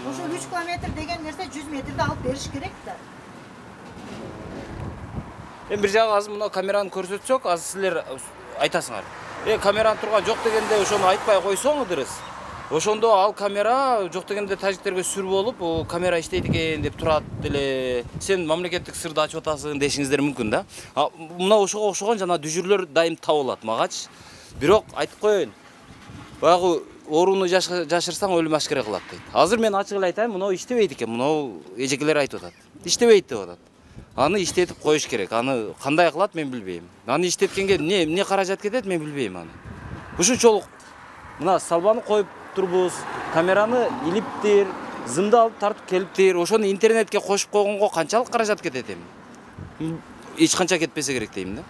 Ошол үч километр деген нерсе жүз метрди алып бериш керек да.
Эми бир жагы азыр мына камераны көрсөтсөк, азыр силер айтасыңар. Э, камераны турган жок дегенде ошону айтпай койсоңудурсуз. Ошондо ал камера жок дегенде тажиктерге сүр болуп, камера иштейт экен деп турат деле. Сен мамлекеттик сырды ачып атасың дешиңиздер мүмкүн да. Мына ошого окшогон жана дүжүрлөр дайым табылат магачы. Бирок айтып коеюн. Баягы орууну жашырсаң өлүм ашкере кылат дейт. Азыр мен ачык эле айтайын, мына иштебейт экен, мына эжекелер айтып атат. Иштебейт деп атат. Аны иштетип коюш керек. Аны кандай кылат мен билбейм. Аны иштеткенге эмне эмне каражат кетет мен билбейм аны. Ушунчолук мына салбаны коюп турбуз, камераны илиптир, зымды алып тартып келиптир. Ошону интернетке кошуп койгонго канчалык каражат кетет эми? Эч канча кетпесе керек дейм да.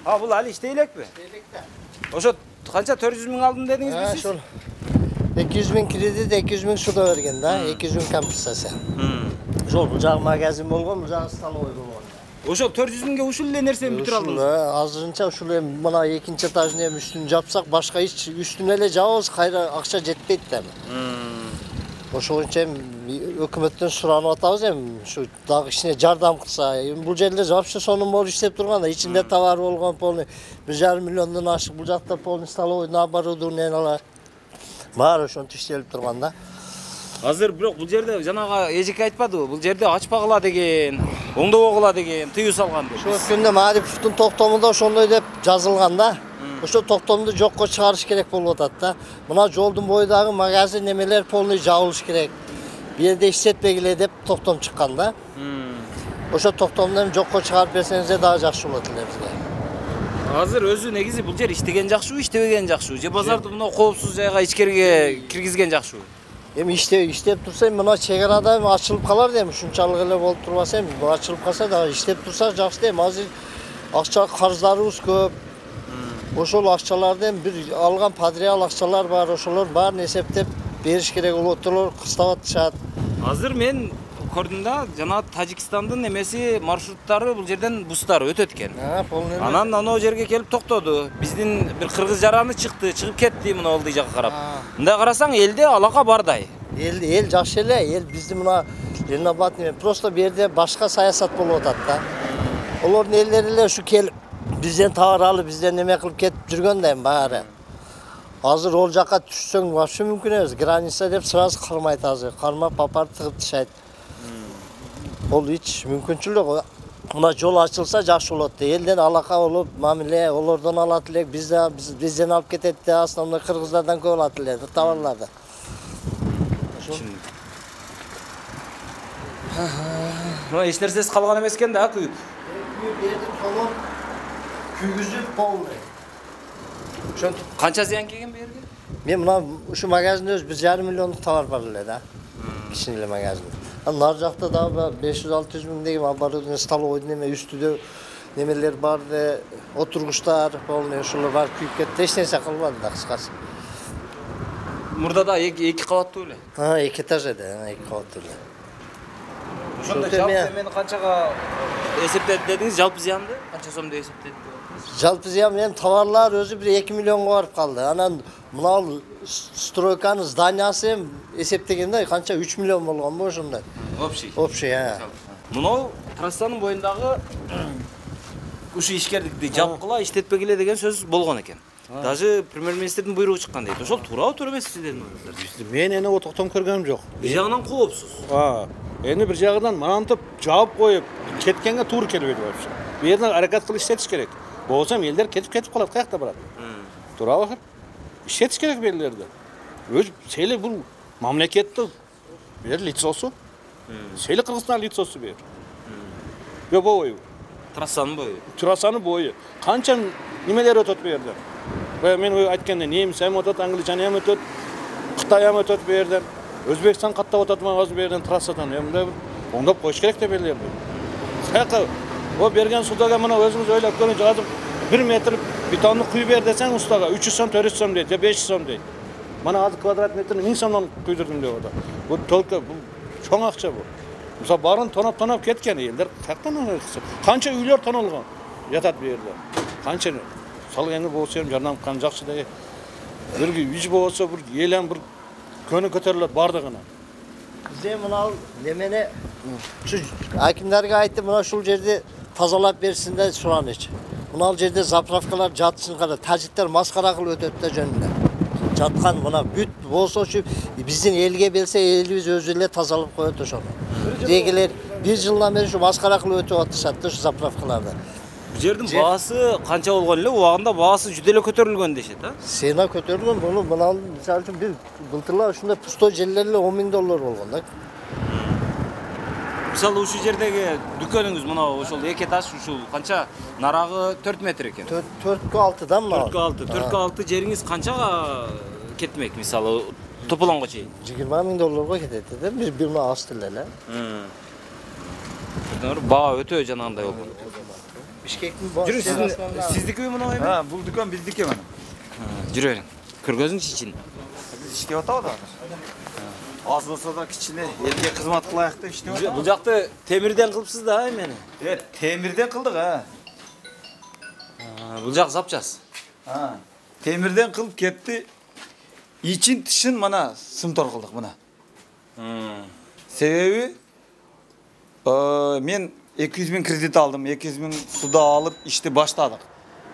А, бул али иштей элекпи? Иштей да. Ошо канча төрт жүз миң алдым дедиңизби сиз?
Ошол эки жүз миң кредит, эки жүз миң суда берген да, эки жүз миң компенсация. Ошол бул жагы магазин болгон, бул жагы столовой болгон.
Ошо төрт жүз миңге ушул эле нерсени бүтүрө
Ушул,
алдыңыз.
э, азырынча ушул эми мына экинчи этажын эми үстүн жапсак, башка эч үстүнө эле жабабыз, кайра акча жетпейт да эми. Ошол боюнча эми өкмөттөн суранып атабыз эми ушу дагы кичине жардам кылса. Эми бул жерде вообще сонун болуп иштеп турган да, ичинде товар болгон полный бир жарым миллиондон ашык, бул жакта полный столовый, оборудованиялар баары ошентип иштелип турган да.
Азыр бирок бул жерде жанагы эжеке айтпадыбы? Бул жерде ачпагыла деген, оңдобогула деген тыюу салган деп.
Ошо өткөндө Мариповдун токтомунда ошондой деп жазылган да. Ошо токтомду жокко чыгарыш керек болуп атат да. Мына жолдун бойдагы магазин немелер полный жабылыш керек. Бу жерде иштетпегиле деп токтом чыккан да. Ошо токтомду жокко чыгарып берсеңиз дагы жакшы болот эле бизге.
Азыр өзү негизи бул жер иштеген жакшыбы, иштебеген жакшыбы? Же базарды мына коопсуз жайга ичкерге киргизген жакшыбы?
Эми иштеп иштеп турса, мына чек арада эми ачылып калар да, эми ушунчалык эле болуп турбаса, эми ачылып калса дагы иштеп турса жакшы да. Эми азыр акча карыздарыбыз көп. Ошол акчаларды эми бир алган подряд акчалар бар, ошолор баарын эсептеп бериш керек болот, ошолор кыстап атышат.
Азыр мен көрдүм да, жана Тажикстандын эмеси маршруттары бул жерден бустар өтөт экен.
А, полный.
Анан анау жерге келип токтоду. Биздин бир кыргыз жараны чыкты, чыгып кетти мына олдуй жакка карап. Мындай карасаң элде алака бардай.
Эл эл жакшы эле, эл бизди мына Ленинабад эме просто бу жерде башка саясат болуп атат да. Олордун элдери эле ушу келип бизден товар алып, бизден неме кылып кетип жүргөн да эми баары. Азыр ол жакка түшсөң вообще мүмкүн эмес. Граница деп сразу кармайт азыр. Кармап папар тыгып тышайт. Ол эч мүмкүнчүлүк жок. Мына жол ачылса жакшы болот да. Элден алака болуп, мамиле олордон алат элек, бизден бизден алып кетет да, основной кыргыздардан көп алат эле товарларды.
Мына эч нерсеси калган эмес экен да, күйүп.
Бу жерди толуп күйгүзүп полный.
Ошентип канча зыян келген бу жерге?
Мен мына ушу магазинде өз бир жарым миллиондук товар бар эле да. Кичине эле магазин. Анан нар жакта дагы беш жүз алты жүз миң деген оборудование столовой неме үстүдө немелер бар да, отургучтар полный ошолор бар күйүп кетти. Эч нерсе калбады да кыскасы.
Мурда да эки кабаттуу эле.
А, эки этаж эди, эки кабаттуу эле.
Ошондо жалпы эмени канчага эсептеди дедиңиз, жалпы зыянды? Канча сом деп эсептеди?
Жалпы зыян менен товарлар өзү бир эки миллионго барып калды. Анан мына стройканын зданиясы эсептегенде канча үч миллион болгонбу ошондой.
Общий.
Общий, а.
Мынау трассанын боюндагы ушу ишкерликти жапкыла, иштетпегиле деген сөз болгон экен. Даже премьер-министрдин буйругу чыккан дейт. Ошол туурабы, туура эмеспи сиздердин оюңуздар?
Мен эне отоктон көргөнүм жок.
Бир жагынан коопсуз.
А, эми бир жагынан мынантип жаап коюп кеткенге туура келбейт вообще. Бу жерден аракет кылып иштетиш керек. Болсо элдер кетип кетип калат, каякта барат? Туурабы акыр? Иштетиш керек бу элдерди. Өз сели бул мамлекеттин бир лицосу. Сели Кыргызстан лицосу бер. Бе бою.
Трассанын бою.
Трассанын бою. Канча немелер өтөт бу жерден? Мен айтканда немис эми өтөт, англичан эми өтөт, Кытай эми өтөт бу жерден. Өзбекстан каттап өтөт азыр бу жерден трассадан. Мындай оңдоп коюш керек деп элдерди. Каяка о берген судага мына өзүңүз ойлоп көрүңүз, азыр бир метр бетонду куюп бер десең устага үч жүз сом, төрт жүз сом дейт, же беш жүз сом дейт. Мына азыр квадрат метрин миң сомдон куйдурдум деп атат. Бул только бул чоң акча бу. Мисалы барын тоноп-тоноп кеткен элдер каяктан алышса? Канча үйлөр тонолгон жатат бу жерде. Канча мисалы эми болсо эми жардам кылган жакшы да. Бир үй болсо бир элем бир көнү көтөрүлөт бардыгына.
Бизде мына немени ушу акимдарга айтып, мына ушул жерди тазалап берсин деп суранычы. Мына жерде заправкалар жатсын кара, тажиктер маскара кылып өтөт да жөнүндө. Жаткан мына бүт болсочу биздин элге берсе, элибиз өзү эле тазалап коет ошону. Дегилер бир жылдан бери ушу маскара кылып өтүп атышат да ушу заправкаларда.
Бул жердин баасы канча болгон эле? Убагында баасы жүдө эле көтөрүлгөн дешет, а?
Сена көтөрүлгөн, буну мына мисалы үчүн бир былтырла ушундай пустой жерлер эле он миң доллар болгон да.
Мисалы ушул жердеги дүкөнүңүз мына ошол эки этаж ушул канча нарагы төрт метр экен.
төрткө алты да мына.
төрткө алты. төрткө алты жериңиз канчага кетмек мисалы тополонго чейин?
жыйырма миң долларга кетет да. Бир бир мына асты эле.
Баа өтө жанагындай болгон.
Бишкектин баа.
Жүрү сиздин сиздикиби мына эми?
Ha, бул дүкөн биздики менен.
Жүрө бериң. Көргөзүңүз ичин.
Биз иштеп атабыз азыр.
аз болсо да кичине элге кызмат кылайык деп иштеп атабыз. Бул жакты темирден кылыпсыз да эмени?
Э, темирден кылдык, а.
Бул жак запчас.
А, темирден кылып кетти. Ичин тышын мына сымтор кылдык мына. Себеби мен эки жүз миң кредит алдым, эки жүз миң суда алып ишти баштадык.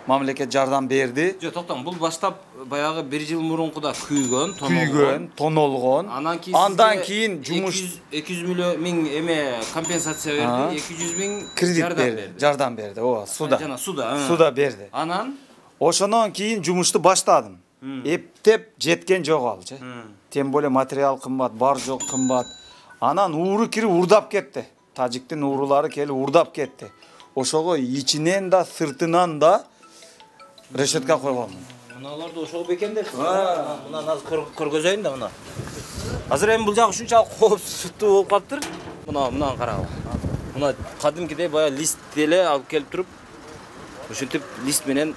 Мамлекет жардам берди.
Жок, токтоң, бул баштап баягы бир жыл мурункуда күйгөн,
күйгөн, тонолгон. Андан кийин жумуш
эки жүз миллион миң эме компенсация берди, эки жүз миң
кредит берди, жардам берди. Ооба, суда.
Жана суда.
Суда берди.
Анан
ошондон кийин жумушту баштадым. Эптеп жеткен жок алчы. Тем более материал кымбат, бар жок кымбат. Анан ууру кирип урдап кетти. Тажиктин уурулары келип урдап кетти. Ошого ичинен да, сыртынан да решетка койгон.
Мыналарды ошого бекемдеп. Мына азыр көргөзөйүн да мына. Азыр эми бул жак ушунчалык коопсуздуу болуп калыптыр. Мына мына карагыла. Мына кадимкидей баягы лист эле алып келип туруп, ушинтип лист менен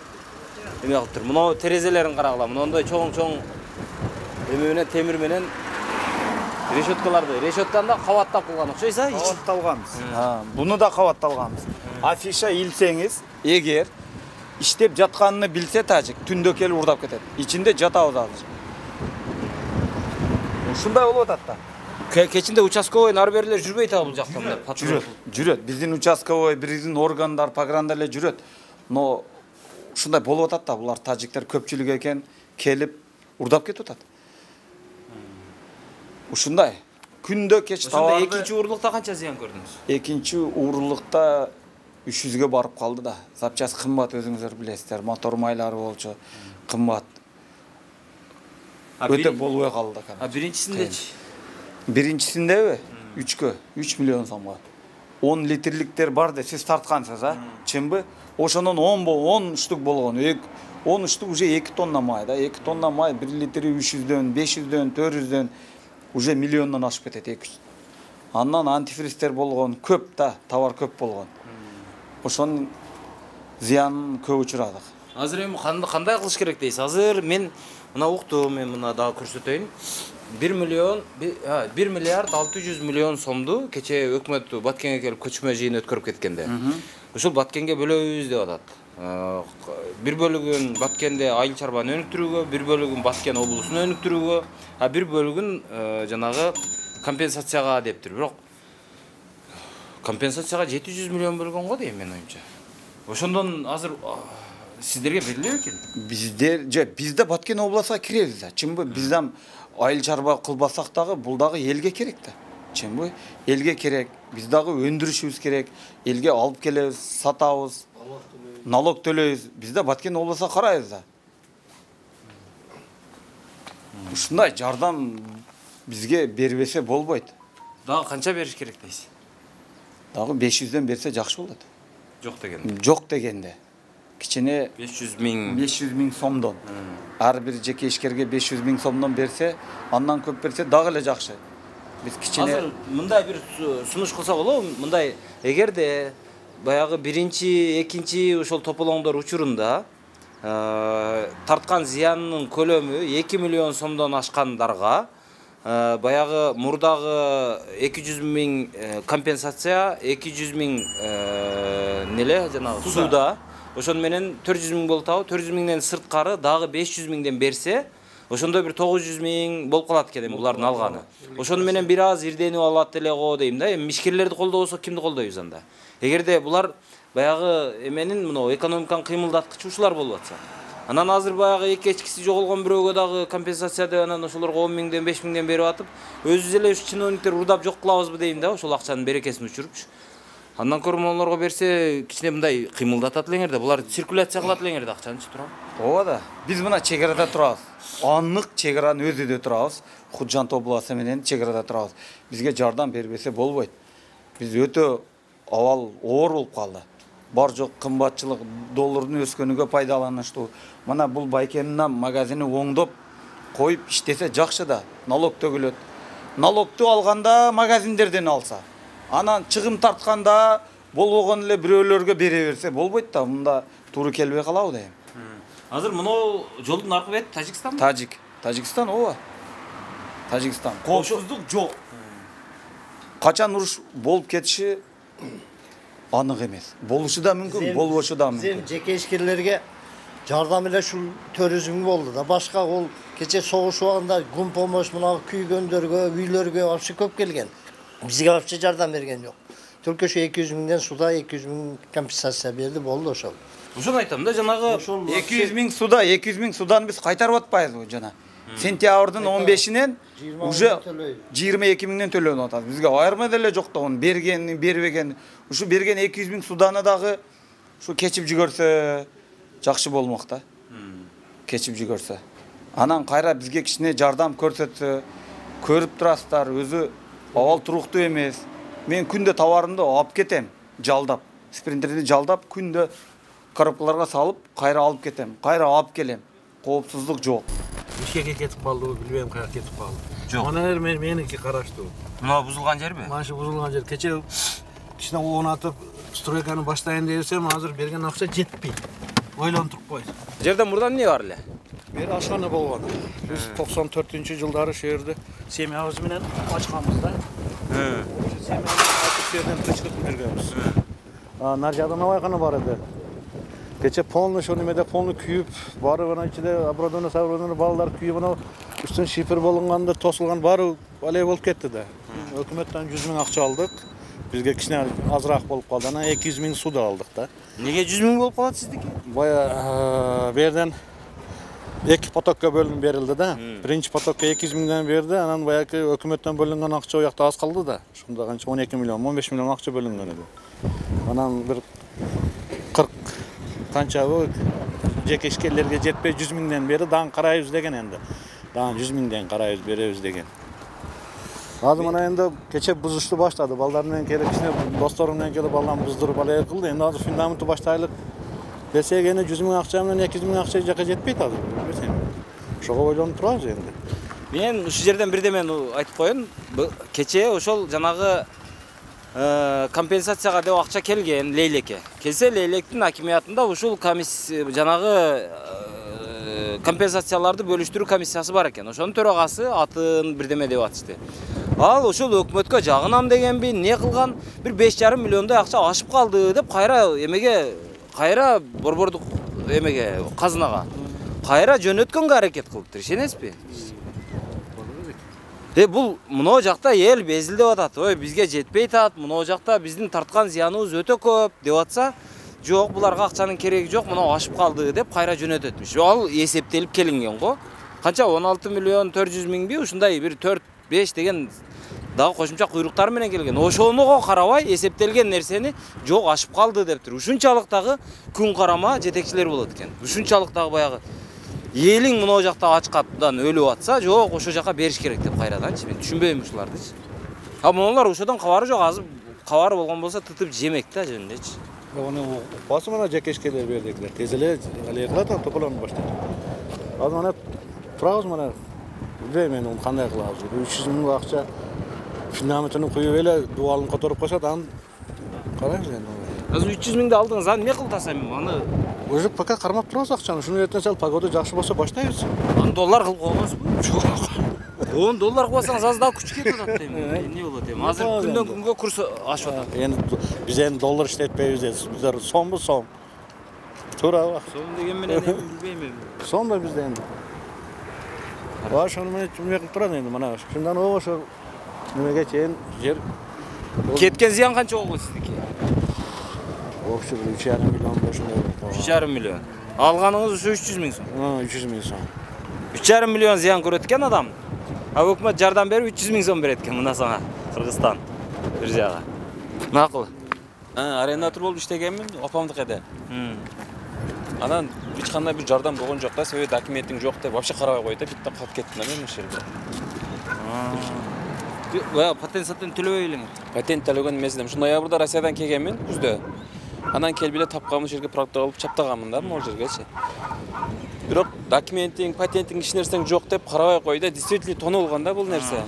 эме кылып тур. Мына терезелерин карагыла. Мындай чоң-чоң эме менен темир менен решеткаларды, решетканы да кабаттап кылган окшойсуз, а?
Кабатталганбыз. Буну да кабатталганбыз. Афиша илсеңиз, эгер иштеп жатканын билсе тажик, түндө келип урдап кетет. Ичинде жатабыз азыр. Ушундай болуп атат да.
Кечинде участковый нарберлер жүрбөйт а бул жакта мындай патруль.
Жүрөт, жүрөт. Биздин участковый, биздин органдар, пограндар эле жүрөт. Но ушундай болуп атат да, булар тажиктер көпчүлүк экен, келип урдап кетип атат. Ушундай. Күндө кеч товарды.
Экинчи уурулукта канча зыян көрдүңүз?
Экинчи уурулукта үч жүзгө барып калды да. Запчас кымбат, өзүңүздөр билесиздер. Мотор майлары болчу, кымбат. Өтө болбой калды да.
А биринчисиндечи?
Биринчисиндеби? үчкө, үч миллион сомго. он литрликтер бар да, сиз тарткансыз, а? Чынбы? Ошондон он штук болгон. он штук уже эки тонна май да. эки тонна май бир литри үч жүздөн, беш жүздөн, төрт жүздөн уже миллиондон ашып кетет эки жүз. Андан антифристер болгон, көп да, товар көп болгон. Ошонун зыянын көп учурадык.
Азыр эми кандай кылыш керек дейсиз? Азыр мен мына уктум, мен мына дагы көрсөтөйүн. бир миллион, бир миллиард алты жүз миллион сомду кече өкмөт Баткенге келип көчмө жыйын өткөрүп кеткенде. Ушул Баткенге бөлөбүз деп атат. Бир бөлүгүн Баткенде айыл чарбаны өнүктүрүүгө, бир бөлүгүн Баткен облусун өнүктүрүүгө, а бир бөлүгүн жанагы компенсацияга дептир. Бирок компенсацияга жети жүз миллион бөлгөн го дейм мен оюмча. Ошондон азыр сиздерге бериле экен?
Биздер, же бизде Баткен обласына киребиз да. Чынбы? Бизден айыл чарба кылбасак дагы бул дагы элге керек да. Чынбы? Элге керек. Биз дагы өндүрүшүбүз керек. Элге алып келебиз, сатабыз. Налог төлөйбүз. Бизде Баткен обласына карайбыз да. Ушундай жардам бизге бербесе болбойт.
Дагы канча бериш керек дейсиз?
Дагы беш жүздөн берсе жакшы болот.
Жок дегенде.
Жок дегенде. Кичине
беш жүз миң
беш жүз миң сомдон. Ар бир жеке ишкерге беш жүз миң сомдон берсе, андан көп берсе дагы эле жакшы. Биз кичине
азыр мындай бир сунуш кылсак болобу? Мындай эгерде баягы биринчи, экинчи ошол тополоңдор учурунда тарткан зыянынын көлөмү эки миллион сомдон ашкандарга баягы мурдагы эки жүз миң компенсация, эки жүз миң неле жанагы суда, ошон менен төрт жүз миң болуп атабы, төрт жүз миңден сырткары дагы беш жүз миңден берсе, ошондо бир тогуз жүз миң болуп калат экен эми булардын алганы. Ошону менен бир аз ирденип алат эле го дейм да. Эми ишкерлерди колдобосок кимди колдойбуз анда? Эгерде булар баягы эменин мына экономиканын кыймылдаткычы ушулар болуп атса. Анан азыр баягы эки эчкиси жоголгон бирөөгө дагы компенсация деп анан ошолорго он миңден беш миңден берип атып, өзүбүз эле ушу чиновниктер урдап жок кылабызбы дейм да, ошол акчанын берекесин учурупчу. Андан көрө монолорго берсе, кичине мындай кыймылдатат элеңер да, булар циркуляция кылат элеңер да акчанычы турам.
Ооба да. Биз мына чек арада турабыз. Аннык чек аранын өзүдө турабыз. Худжант областы менен чек арада турабыз. Бизге жардам бербесе болбойт. Биз өтө абал оор болуп калды. Бар жок кымбатчылык, доллардын өскөнүгө пайдаланыштуу. Мына бул Байкенин магазини оңдоп коюп иштесе жакшы да, налог төгүлөт. Налогду алганда магазиндерден алса, анан чыгым тартканда болбогон эле бирөөлөргө бере берсе болбойт да, мында туура келбей калабы дейм.
Азыр мынау жолдун аркы бети Тажикстан?
Тажик. Тажикстан ооба.
Тажикстан. Коопсуздук жок. Качан уруш болуп кетиши анык эмес. Болушу да мүмкүн, болбошу да мүмкүн.
Биздин жеке ишкерлерге жардам эле ушул туризм болду да. Башка ол кече согуш убагында гум помощь мына күйгөндөргө, үйлөргө вообще көп келген. Бизге вообще жардам берген жок. Только ошо эки жүз миңден суда эки жүз миң компенсация берди, болду ошол.
Ошону айтам да, жанагы эки жүз миң суда, эки жүз миң суданы биз кайтарып атпайбызбы жана? Сентябрдын он бешинен уже жыйырма эки миңден төлөнүп атат. Бизге айырма деле жок да, onu берген, бербеген. Ушу берген эки жүз миң суданы дагы ушу кечип жүгөрсө жакшы болмок да. Кечип жүгөрсө. Анан кайра бизге кичине жардам көрсөтсө, көрүп турасыздар, өзү абал туруктуу эмес. Мен күндө товарымды алып кетем, жалдап, спринтерди жалдап, күндө коробкаларга салып, кайра алып кетем, кайра алып келем. Коопсуздук жок.
Ишке кетип калдыбы, билбейм каяка кетип калды.
Жок.
Мына мен меники караштуу.
Мына бузулган жерби?
Mana shu buzilgan yer. Kecha kishini o'rnatib stroykani boshlayin desam, hozir bergan акча жетпейт. Ойлонуп туруп qo'y.
Жерден мурдан эмне бар эле?
Бери ашхана болгон. Биз токсон төртүнчү жылдары шу жерде семьябыз менен ачканбыз да. Hm. Семьябыз жерден тынчтык бергенбиз. А нар жагда навайкана бар эди. Кече полный шо немеде полный күйүп, бары гана ичиде оборудование, оборудование балдар күйүп, анау үстүн шифр болгондо тосулган бары алей болуп кетти да. Өкмөттөн жүз миң акча алдык. Бизге кичине азыраак болуп калды. Анан эки жүз миң суда алдык да.
Неге жүз миң болуп калат сиздики?
Бая берден эки потокко бөлүнүп берилди да. Биринчи потокко эки жүз миңден берди, анан баягы өкмөттөн бөлүнгөн акча у жакта аз калды да. Ошондо канча он эки миллион, он беш миллион акча бөлүнгөн эди. Анан бир кырк канча жеке ишкерлерге жетпей жүз миңден бери дагы карайбыз деген энди. Дагы жүз миңден карайбыз, беребиз деген. Азыр мына энди кече бузушту баштады. Балдар менен келип, кичине досторум менен келип балдан буздуруп алай кылды. Энди азыр фундаментти баштайлык десек, эми жүз миң акча менен эки жүз миң акча жака жетпейт азыр. Билбесем. Ошого ойлонуп турабыз энди.
Мен ушул жерден бирдеме айтып коеюн. Кече ошол жанагы компенсацияга деп акча келген Лейлекке. Келсе Лейлектин акимиятында ушул комиссия жанагы компенсацияларды бөлүштүрүү комиссиясы бар экен. Ошонун төрагасы атын бирдеме деп атышты. Ал ошол өкмөткө жагынам дегенби, не кылган, бир беш жарым миллиондой акча ашып калды деп кайра эмеге, кайра борбордук эмеге, казынага кайра жөнөткөнгө аракет кылыптыр, ишенесизби? Э бул мына жакта эл безилдеп атат. Ой, бизге жетпей атат. Мына жакта биздин тарткан зыяныбыз өтө көп деп атса, жок, буларга акчанын кереги жок, мына ашып калды деп кайра жөнөтөтмүш. Ал эсептелип келинген го. Канча он алты миллион төрт жүз миңби ушундай бир төрт беш деген дагы кошумча куйруктар менен келген. Ошонуго карабай эсептелген нерсени жок ашып калды дептир. Ушунчалык дагы күн карама жетекчилер болот экен. Ушунчалык дагы баягы элиң мына жакта ачкаттан өлүп атса, жок, ошо жака бериш керек деп кайраданчы. Мен түшүнбөйм ушулардычы. А мунулар ошодон кабары жок, азыр кабары болгон болсо тытып жемек да жөнүндөчү.
Onu basım ana jeke işkeler berdikler. Tez ele alay kılatan topalanıp başladı. Az mana turabız mana bilbeyim men onu kanday kılabız. üç yüz ming akça fundamentini koyup ele dualын kotorup koşat, an karayбыз endi.
Азыр үч жүз миңди алдыңыз, аны эмне кылтасам мен? Аны
өзү пока кармап турабыз акчаны. Шуну эртең сал погода жакшы болсо баштайбыз.
Аны доллар кылып койгонсузбу? Жок. он доллар кылсаңыз аз дагы күч кетип атат дейм. Эмне болот эми? Азыр күндөн күнгө курс ашып атат.
Эми биз эми доллар иштетпейбиз. Биздер сомбу сом. Туура.
Сом деген менен эми билбейм эми.
Сом да бизде энди. Ва ошону менен эме кылып турат энди мына. Шундан ошо немеге чейин жер
кеткен зыян канча болгон сиздики?
Вообще үч жарым миллион ошондой.
үч жарым миллион. Алганыңыз ушу үч жүз миң сом.
үч жүз миң сом.
үч жарым миллион зыян көрөт экен адам. А өкмөт жардам берип үч жүз миң сом берет экен мына сага. Кыргызстан бир жага. Макул.
Арендатор болуп иштегенмин, опамдыкеде. Анан эч кандай бир жардам болгон жок да, себеби документиң жок деп вообще карабай койду, битте калып кеттим да мен ошол жерде.
Бая патент сатен төлөбөй элеңер.
Патент төлөгөн эмес элем. Ушу ноябрда Россиядан келгенмин, күздө. Анан келип эле тапканмын, жерге проектор алып чаптаганмын да, могул жергечи. Бирок документиң, патентиң иш нерсең жок деп карабай койду. Действительно тонулган да бул нерсе.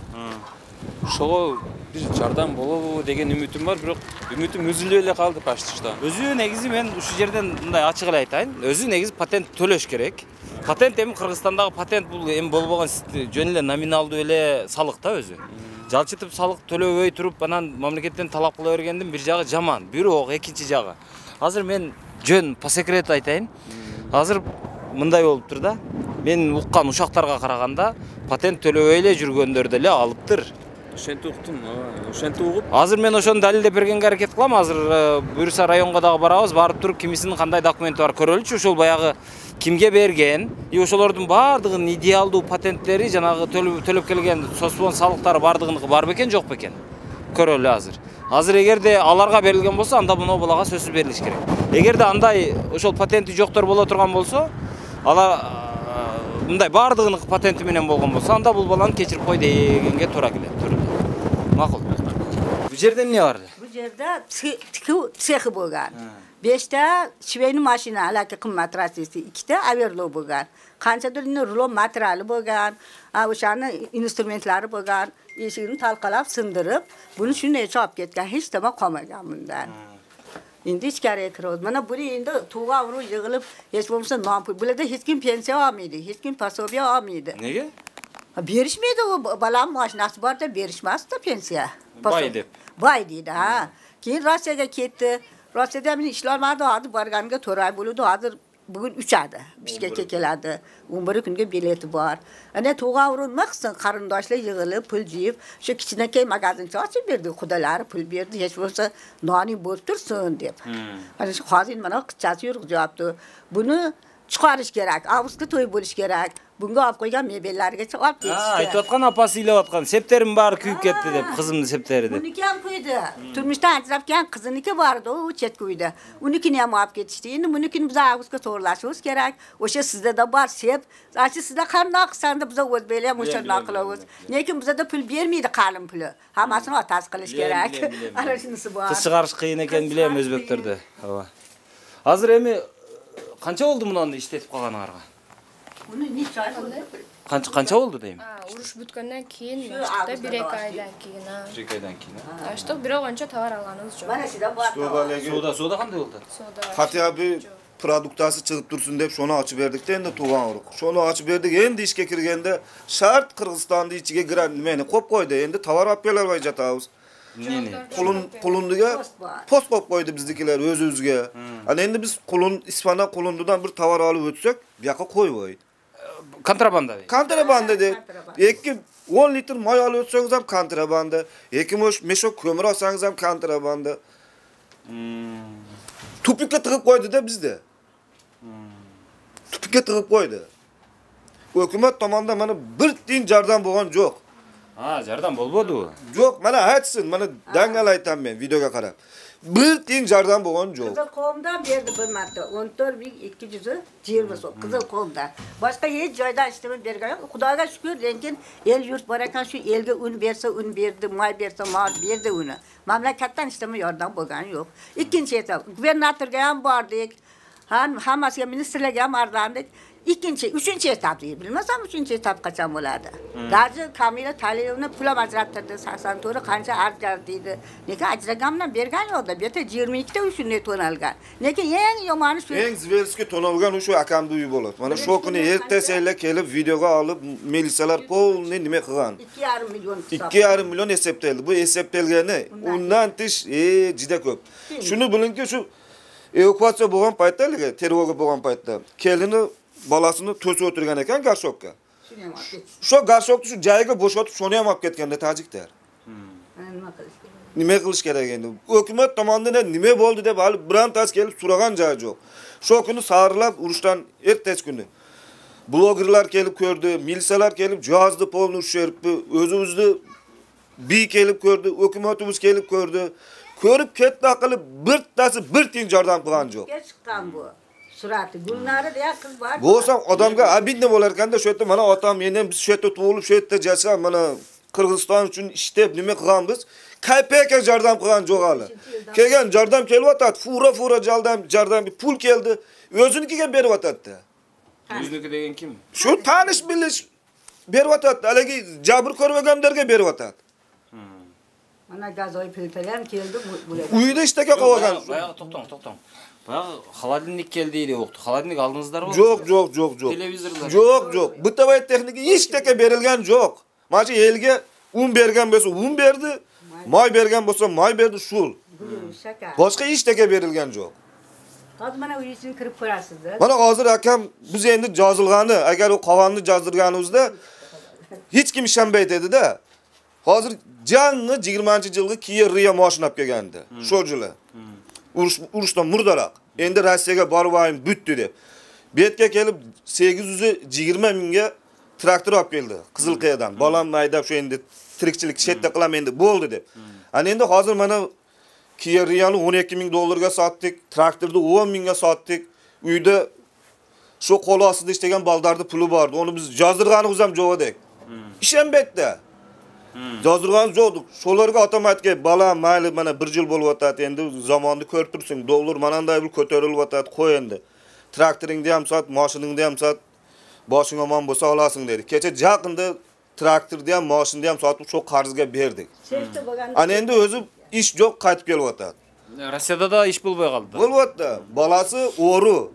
Ошого бир жардам болобу деген үмүтүм бар, бирок үмүтүм үзүлүп эле калды почти что.
Өзү негизи мен ушул жерден мындай ачык эле айтайын. Өзү негизи патент төлөш керек. Патент эми Кыргызстандагы патент бул эми болбогон жөн эле номиналдуу эле салык да өзү. Жалчытып салык төлөбөй туруп анан мамлекеттен талап кыла бергендин бир жагы жаман. Бирок экинчи жагы. Азыр мен жөн по секрету айтайын. Азыр мындай болуп тур да. Мен уккан ушактарга караганда патент төлөбөй эле жүргөндөр деле алыптыр.
Ошентип уктум, ошентип угуп.
Азыр мен ошону далилдеп бергенге аракет кылам. Азыр буюрса районго дагы барабыз, барып туруп кимисинин кандай документи бар көрөлүчү. Ошол баягы кимге берген, и ошолордун баардыгынын идеалдуу патенттери, жанагы төлөп келген соспон салыктары баардыгыныкы бар бекен, жок бекен. Көрөлү азыр. Азыр эгерде аларга берилген болсо, анда мына балага сөзсүз берилиш керек. Эгерде андай ошол патенти жоктор боло турган болсо, алар мындай баардыгыныкы патенти менен болгон болсо, анда бул баланы кечирип кой дегенге туура келет. Макул. Бу жерде эмне бар?
Бу жерде тикүү цехи болгон. беште швейный машина, алаки кыммат расиси, иките аверлоо болгон. Канчадыр рулон материалы болгон, ошанын инструментлары болгон. Эшигин талкалап сындырып, буну шундай чоп кеткен, эч нерсе калмаган мындан. Endi ichkariga kiramiz. Mana buni endi tug'a uru yig'ilib, hech bo'lmasa non pul. Bularda hech kim pensiya olmaydi, hech kim пособие olmaydi.
Nega?
Berishmaydi u balam mashinasi borda berishmasdi pensiya.
Boy deb.
Boy deydi, ha. Keyin Rossiyaga ketdi. Rossiyada men ishlamadi, hozir borganiga to'rt oy bo'ldi, hozir bugun uch oyda Bishkekka keladi. o'n bir kunga bileti bor. Ana tug'a urinma qilsin, qarindoshlar yig'ilib, pul jiyib, shu kichkinakay magazincha ochib berdi, xudolari pul berdi, hech bo'lsa noning bo'lib tursin deb. Ana shu hozir mana qizchasi yurg'izyapti. Buni chiqarish kerak, avgustda to'y bo'lish kerak. Bunga olib qo'ygan mebellargacha olib ketishdi.
Ha, aytayotgan apasi ilayotgan. Septerim bari kuyib ketdi deb, qizimni septeri deb.
Uniki ham qo'ydi. Turmushdan ajrabgan qiziniki bor edi, u chet qo'ydi. Unikini ham olib ketishdi. Endi bunikini biz avgustga to'g'rilashimiz kerak. O'sha sizda da bor sep. Achi sizda qandoq qilsanda biz o'zbeklar ham o'shandoq qilamiz. Lekin bizda pul bermaydi qalin puli. Hammasini otasi qilish kerak. Ana shunisi bor.
Qiz chiqarish qiyin ekan bilem o'zbeklarda. Ha. Hozir emi qancha bo'ldi buni ishlatib qolganingizga?
Uni necha oy bo'ldi?
Qancha qancha bo'ldi deyim?
Ha, urush bitgandan keyin, işte bir ikki oydan keyin.
bir ikki oydan keyin.
Ha, işte bir oygacha tovar olganimiz yo'q.
Mana shunda bor.
Soda, soda qanday bo'ldi?
Soda.
Hatya bir produktasi chiqib tursin deb shuni ochib berdik-da, endi tug'an urug'. Shuni ochib berdik, endi ishga kirganda shart Qirg'izistonning ichiga giran nimani qo'yib qo'ydi. Endi tovar olib kelolmay jatamiz.
Neni?
Qulun qulundiga post qo'yib qo'ydi biznikilar o'z-o'ziga. Ana endi biz qulun Ispaniya qulundidan bir tovar olib o'tsak, bu yoqqa qo'yvoy.
Kontrabanda.
Kontrabanda deb. ikki o'n litr moy olib o'tsangiz ham kontrabanda. ikki mesho ko'mir olsangiz ham kontrabanda. Tupikka tig'ib qo'ydi-da bizda. Tupikka tig'ib qo'ydi. Hukumat tomonidan mana bir tiyin jardam bo'lgan yo'q.
Ha, jardam bo'lmadi.
Yo'q, mana aytsin, mana dangal aytaman men videoga qarab. Bir tiyin jardam bo'lgan yo'q.
Qizil qo'mdan berdi bir marta o'n to'rt ming ikki yuz yigirma so'm qizil qo'mdan. Boshqa hech joydan ishlab bergan yo'q. Xudoga shukr, lekin el yurt bor ekan, shu elga un bersa un berdi, moy bersa moy berdi uni. Mamlakatdan ishlama yordam bo'lgani yo'q. Ikkinchi etap, gubernatorga ham bordik. Ham hammasiga ministrlarga ham arlandik. İkinci, üçüncü etap değil. Bilmezsem üçüncü etap kaçan bo'ladi. Gazı Kamila Taliyevni pul ajrattirdi. sakson to'rt qancha ajratdi. Lekin ajragandan bergan yo'qda. Bu yerda yigirma ikkita shunday to'nalgan. Lekin eng yomoni shu.
Eng zverskiy to'nalgan o'sha akamni uyi bo'ladi. Mana shu kuni ertasiga kelib videoga olib militsiyalar polni nima qilgan.
ikki yarim million.
ikki yarim million hisoblaydi. Bu hisoblangani undan tish e juda ko'p. Shuni bilingki, shu evakuatsiya bo'lgan paytda, tergovga bo'lgan paytda kelini balasini to'sib o'tirgan ekan garshokka. Shu garshokni shu joyiga bo'shatib, shuni ham olib ketganda tajiklar. Nima qilish kerak endi? Hukumat tomonidan nima bo'ldi deb hali birontasi kelib so'ragan joyi yo'q. Shu kuni saharlab urushdan ertasi kuni blogerlar kelib ko'rdi, militsiyalar kelib jihozli polni ushiribdi, o'zimizni bi kelib ko'rdi, hukumatimiz kelib ko'rdi. Ko'rib ketdi qilib birtasi bir tiyin yordam qilgan yo'q.
Chiqqan bu. Surati Gulnari deya qiz bor.
Bo'lsam odamga abidni bo'lar ekanda, shu yerda mana otam men ham biz shu yerda tug'ilib, shu yerda yashab, mana Qirg'iziston uchun ishlab nima qilganmiz? Kaypeka yordam qilgan yo'q hali. Kelgan yordam kelyapti, fura-fura yordam, yordam pul keldi, o'zinikiga beryapti.
O'ziniki degan kim?
Shu tanish bilish beryapti, haligi jabr ko'rmaganlarga beryapti.
Mana gazoy filtr ham keldi bular.
Uyda ishtaka qilgan.
Boyaga to'xtang, to'xtang. Баягы холодильник келди деп укту. Холодильник алдыңыздарбы?
Жок, жок, жок, жок.
Телевизорлор.
Жок, жок. Бытовой техника эчтеке берилген жок. Мачы элге un берген болсо un берди, май берген болсо май берди, шул. Башка эчтеке берилген жок.
Азыр мана үйсүн кирип көрасыз да.
Мана азыр акам биз энди жазылганы, агар о каганды жаздырганыбызда эч ким ишенбейт эди да. Азыр жаңы жыйырманчы жылгы Kia Rio машина алып келгенди. Шол жылы. Уруш уруштан мурдараак. Энди Россияга барбайм бүттү деп. Бетке келип сегиз жүз жыйырма миңге трактор алып келди Кызыл Кыядан. Балам айдап ошо энди тирикчилик четте кылам энди болду деп. Ана энди азыр мана Kia Rio'nu он эки миң долларга саттык, тракторду он миңге саттык. Үйдө ошо кол астында иштеген балдарды пулу барды. Ону биз жаздырганыбыз ham жок эдик. Ишенбейт да. Жаздырган жок. Шолорго атам айтке, балам майли мана бир жыл болуп атат, энди заманды көрүп турсуң, доллар манандай бир көтөрүлүп атат, кой энди. Тракторуңду ham сат, машинаңды ham сат, башың аман болсо аласың деди. Кече жакында тракторду ham, машинду ham сатып ошо карызга бердик. Ана энди өзү иш жок, кайтып келип атат.
Россияда да иш болбой калды.
Болуп атты. Баласы ору.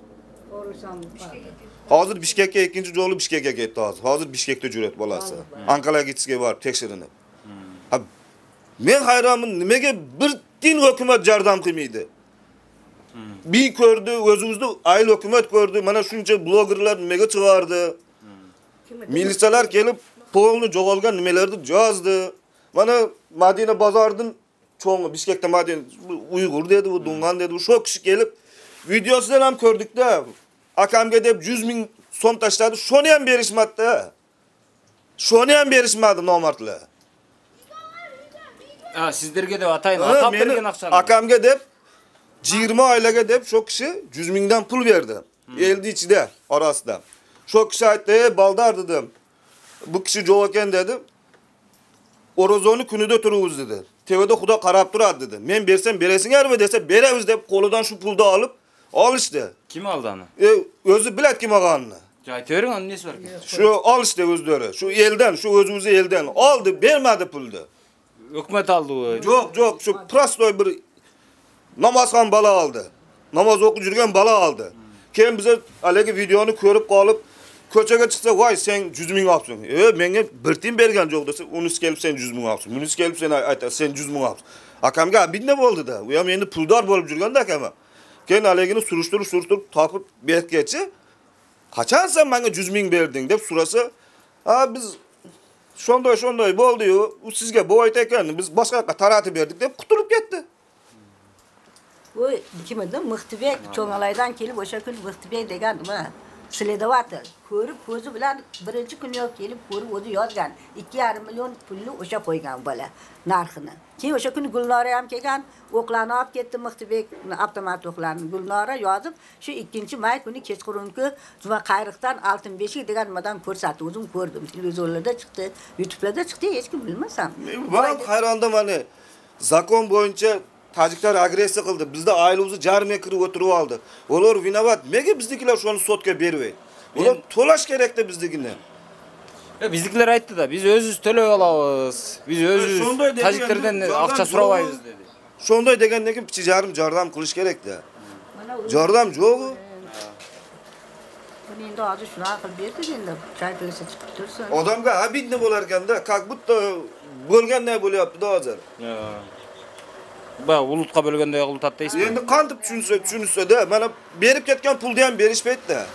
Hazır Bişkek'e ikinci жолу Bişkek'e кетти азыр. Hazır Bişkek'te жүрөт баласы. Анкалага кетишке барып текшеринип. А мен хайрамын, немеге бир тин өкмөт жардам кылмайды. Би көрдү, өзүбүздү айыл өкмөт көрдү. Мана шунча блогерлер немеге чыгарды. Милициялар келип, полну жоголган немелерди жазды. Мана Мадина базардын чоңу Бишкекте Мадина уйгур деди, бу дунган деди. Ошо киши келип видеосунан ham көрдүк да. Akamga deb жүз миң сом таштады. Шону ham berishmadi. Шону ham berishmadi nomardlar.
А, сиздерге деп атайын, атап берген акчаны.
Akamga deb жыйырма айлага деп шо киши жүз миңден пул берди. Элди ичиде арасында. Шо киши айтты, "Э, балдар" dedim. Bu kişi жок экен деди. Orozonu күнүдө турубуз dedi. Тебеде Куда карап турат dedi. Men bersem beresiңерби dese beremiz deb колудан шу пулду алып alıştı.
Kim aldı anı?
E, özü bilet kim alganını.
Aytı verin anı nesi var ki?
Şu alıştı özleri. Şu elden, şu özümüzü elden aldı, vermedi puldu.
Hükümet aldı o.
Yok, yok. Şu prastoy bir namazkan bala aldı. Namaz oku жүрген bala aldı. Kim bize alegi videonu görüp kalıp köçege çıksa, "Vay sen yüz ming alpsın." E, menge bir tin bergen jok dese, "Unus gelip sen yüz ming alpsın." Unus gelip sen ayta, "Sen yüz ming alpsın." Akamga binne boldu da. Uyam endi puldar bolup жүрген da akama. Ken alegini suruşturup suruşturup tapıp betkeçi. Kaçan sen bana yüz ming berdin dep surası. Ha biz şondoy şondoy boldu yo. U sizge bu ayta eken biz başka taratı berdik dep kutulup ketdi.
Bu kim edi? Mıhtibek çoğalaydan kelip oşa gün Mıhtibek degen mi? Sledovatır. Körüp gözü bilen birinci gün yok gelip körüp ozu yazgan. iki yarım milyon pullu oşa koygan bala narxını. Keyin oşa gün Gulnara ham kelgan, oklarni olib ketdi Mıhtibek avtomat oklarni. Gulnara yozib, shu ikkinchi may kuni kechqurungi Juma Qayriqdan Altın Beshik degan nimadan ko'rsatdi. O'zim ko'rdim. Televizorlarda chiqdi, YouTube'da chiqdi, hech kim bilmasam.
Ben hayrandım hani zakon boyunca Taciklar agresiya qildi. Bizda aylimizni jarime kirib o'tirib oldi. Ular vinovat. Nega biznikilar shuni sotga bermaydi? Ular to'lash kerakda bizdigini.
E bizdikiler aytdı da biz özüz төлөй alabız. Biz özüz Taciklerden akça surabayız dedi.
Şonday degenden keyin pichi jarım jardam qilish kerak da. Jardam jo'q.
Buni endi hozir shunaqa qilib berdi endi. Chay qilsa chiqib tursin.
Odamga abidni bo'lar ekanda, как будто bo'lganday bo'lyapti hozir.
Ba ulutqa bölgende ulut deysiz.
Endi qantib tushunsa, tushunsa-da, mana berib ketgan pulni ham berishmaydi-da.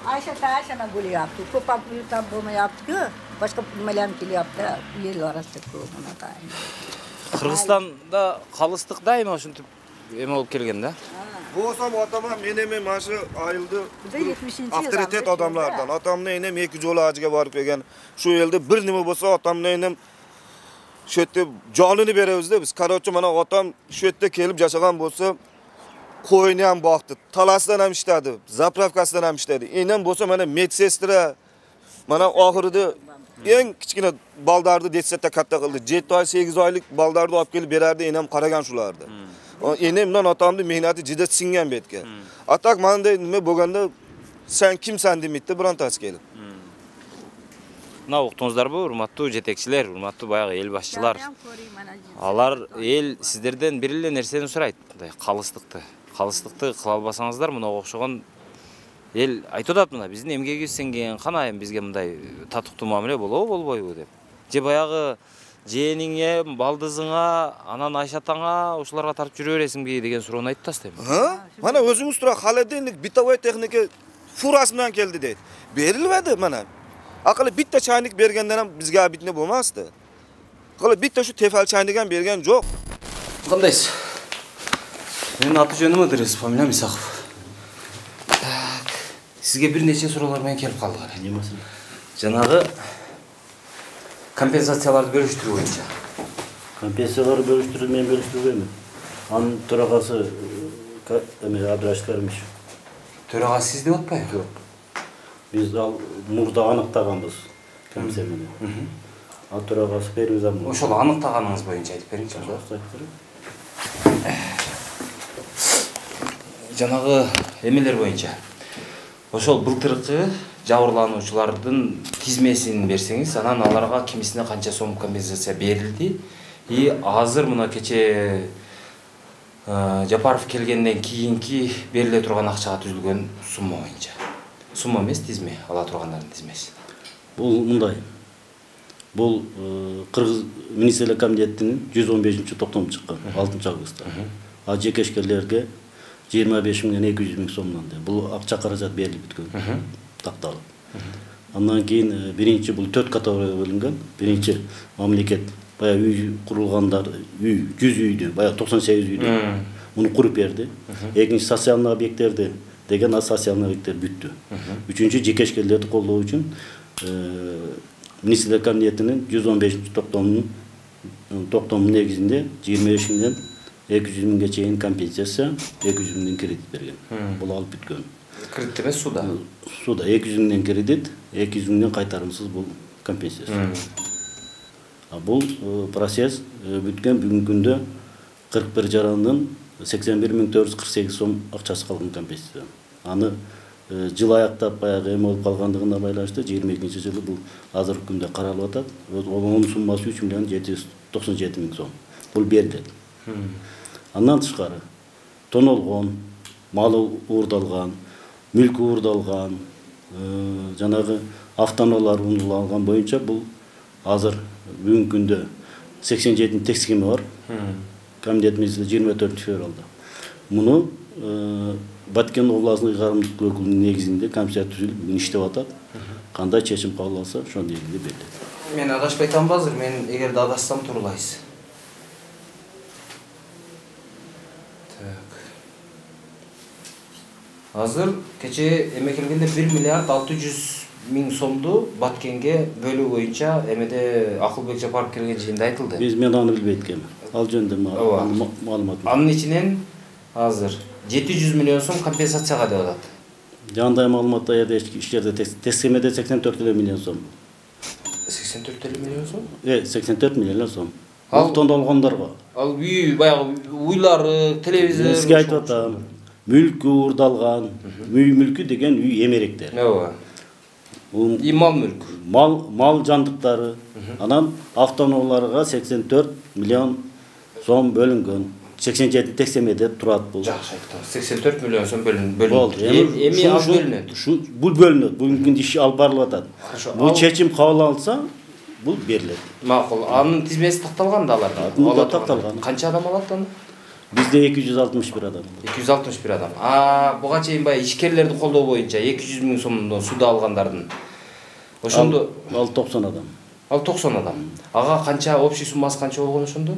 Ayşe Taşana bo'lyapti. Ko'p ham puldan bo'lmayapti-ku. Boshqa nimalar ham kelyapti. Yer orasida ko'p mana tayin.
Qirg'izistonda qalistik daima shunday ema bo'lib kelganda.
Bo'lsam otama men emen mana shu ayıldı. Avtoritet odamlardan. Atamni enem ikki jo'la ajiga borib kelgan. Shu yerda bir nima bo'lsa atamni enem shu yerda jonini beramiz-da biz. Qarochi mana otam shu yerda kelib yashagan bo'lsa, qo'yni ham boqdi, talasdan ham ishladi, zapravkasidan ham ishladi. Enem bo'lsa mana medsestra mana oxirida eng kichkina baldarni detsetda katta qildi. yetti oy, sakkiz oylik baldarni olib kelib berardi, enem qaragan shulardi. Enem bilan otamni mehnati juda singan betga. Atak manday nima bo'lganda sen kimsan demaydi birontasi kelib.
Мына уктуңуздарбы, урматтуу жетекчилер, урматтуу баягы эл башчылар. Алар эл сиздерден бир эле нерсени сурайт, мындай калыстыкты. Калыстыкты кыла албасаңыздар, мынага окшогон эл айтып атат, мына биздин эмгегибиз сеңген, кана эми бизге мындай татыктуу мамиле болобу, болбойбу деп. Же баягы жээниңе, балдызыңа, анан Айша атаңа ушуларга тартып жүрө бересиңби деген суроону айтып тастайм.
Мана өзүңүз тура холодильник, бытовой техника фурасы менен келди дейт. Берилбеди мана. Акылы битте чайник бергенден ham бизге абитне болмасты. Акылы битте ушу тефал чайниган берген жок.
Кандайсыз? Менин аты жөнүм Ыдырыс, фамилиям Исаков. Так, сизге бир нече суроолор менен келип калдык. Эмне маселе? Жанагы компенсацияларды бөлүштүрүү боюнча.
Компенсацияларды бөлүштүрүү мен бөлүштүрбөймүн. Анын төрагасы эме Абдрашид Каримович.
Төрагасы сиз деп атпайбы?
Жок. Биз ал мурда аныктаганбыз комиссия менен. Ал төрагасы Пермизам.
Ошол аныктаганыңыз боюнча айтып бериңизчи. Жанагы эмелер боюнча. Ошол былтыркы жабырлануучулардын тизмесин берсеңиз, анан аларга кимисине канча сом компенсация берилди. И азыр мына кече Жапаров келгенден кийинки бериле турган акчага түзүлгөн сумма боюнча. Сумма эмес, тизме, ала тургандардын тизмеси.
Бул мындай. Бул Кыргыз министрлер комитетинин жүз он бешинчи токтому чыккан алтынчы августта. А жекешкерлерге жыйырма беш миңден эки жүз миң сомдон. Бул акча каражат берилип бүткөн. Такталып. Андан кийин биринчи бул төрт категорияга бөлүнгөн. Биринчи мамлекет баягы үй курулгандар, үй, жүз үйдү, баягы токсон сегиз үйдү. Муну куруп берди. Экинчи социалдык объекттерди деген а социалдык объекттер бүттү. Үчүнчү жекешкерлерди колдоо үчүн министрлер комитетинин жүз он бешинчи токтомунун токтомунун негизинде жыйырма беш миңден эки жүз миңге чейин компенсация, эки жүз миңден кредит берген. Бул алып бүткөн.
Кредит эмес, суда.
Суда эки жүз миңден кредит, эки жүз миңден кайтарымсыз бул компенсация. А бул процесс бүткөн бүгүнкү күндө кырк бир жарандын сексен бир миң төрт жүз кырк сегиз сом акчасы калган компенсация. Аны жыл аяктап баягы эме болуп калгандыгына байланыштуу жыйырма экинчи жылы бул азыркы күндө каралып атат. Онун суммасы үч миллион жети жүз токсон жети миң сом. Бул берилет. Андан тышкары тонолгон, малы уурдалган, мүлкү уурдалган, жанагы автоунаалар уурдалган боюнча бул азыр бүгүнкү күндө сексен жетинчи текст схема бар. Комитет министри жыйырма төртүнчү февралда. Муну Баткен областынын ыйгарымдык өкүлүнүн негизинде комиссия түзүлүп бүгүн иштеп атат. Кандай чечим кабыл алса, ошонун негизинде берилет.
Мен адашпай атамбы азыр, мен эгерде адашсам турурлайсыз. Так. Азыр кече эме келгенде бир миллиард алты жүз миң сомду Баткенге бөлүү боюнча эмеде Акылбек Жапаров келген жыйында айтылды.
Биз мен аны билбейт экенмин. Ал жөнүндө маалымат.
Анын ичинен азыр жети жүз миллион сом компенсацияга деп атат.
Жандай маалыматта жерде ишчерде тескемеде сексен төрт миллион сом.
сексен төрт миллион сом?
Э, сексен төрт миллион сом. Ал тонолгондорго.
Ал үй баягы уйлары, телевизор.
Сизге айтып атам. Мүлкү уурдалган, үй мүлкү деген үй эмеректер.
Ооба. И мал мүлк.
Мал мал жандыктары. Анан автоунааларга сексен төрт миллион сом бөлүнгөн. сексен жети текстемеде турат бул.
Жакшы айттым. сексен төрт миллион сом бөлүнүп. Эми ал бөлүнөт.
Шу бул бөлүнөт. Бүгүнкү күндө иш алып барылып атат. Бул чечим кабыл алынса, бул берилет.
Макул. Анын тизмеси такталган да аларда.
Алар такталган.
Канча адам алат аны?
Бизде эки жүз алтымыш бир адам.
эки жүз алтымыш бир адам. А буга чейин баягы ишкерлерди колдоо боюнча эки жүз миң сомдон суда алгандардын. Ошондо
ал токсон адам.
Ал токсон адам. Ага канча общий суммасы канча болгон ошондо?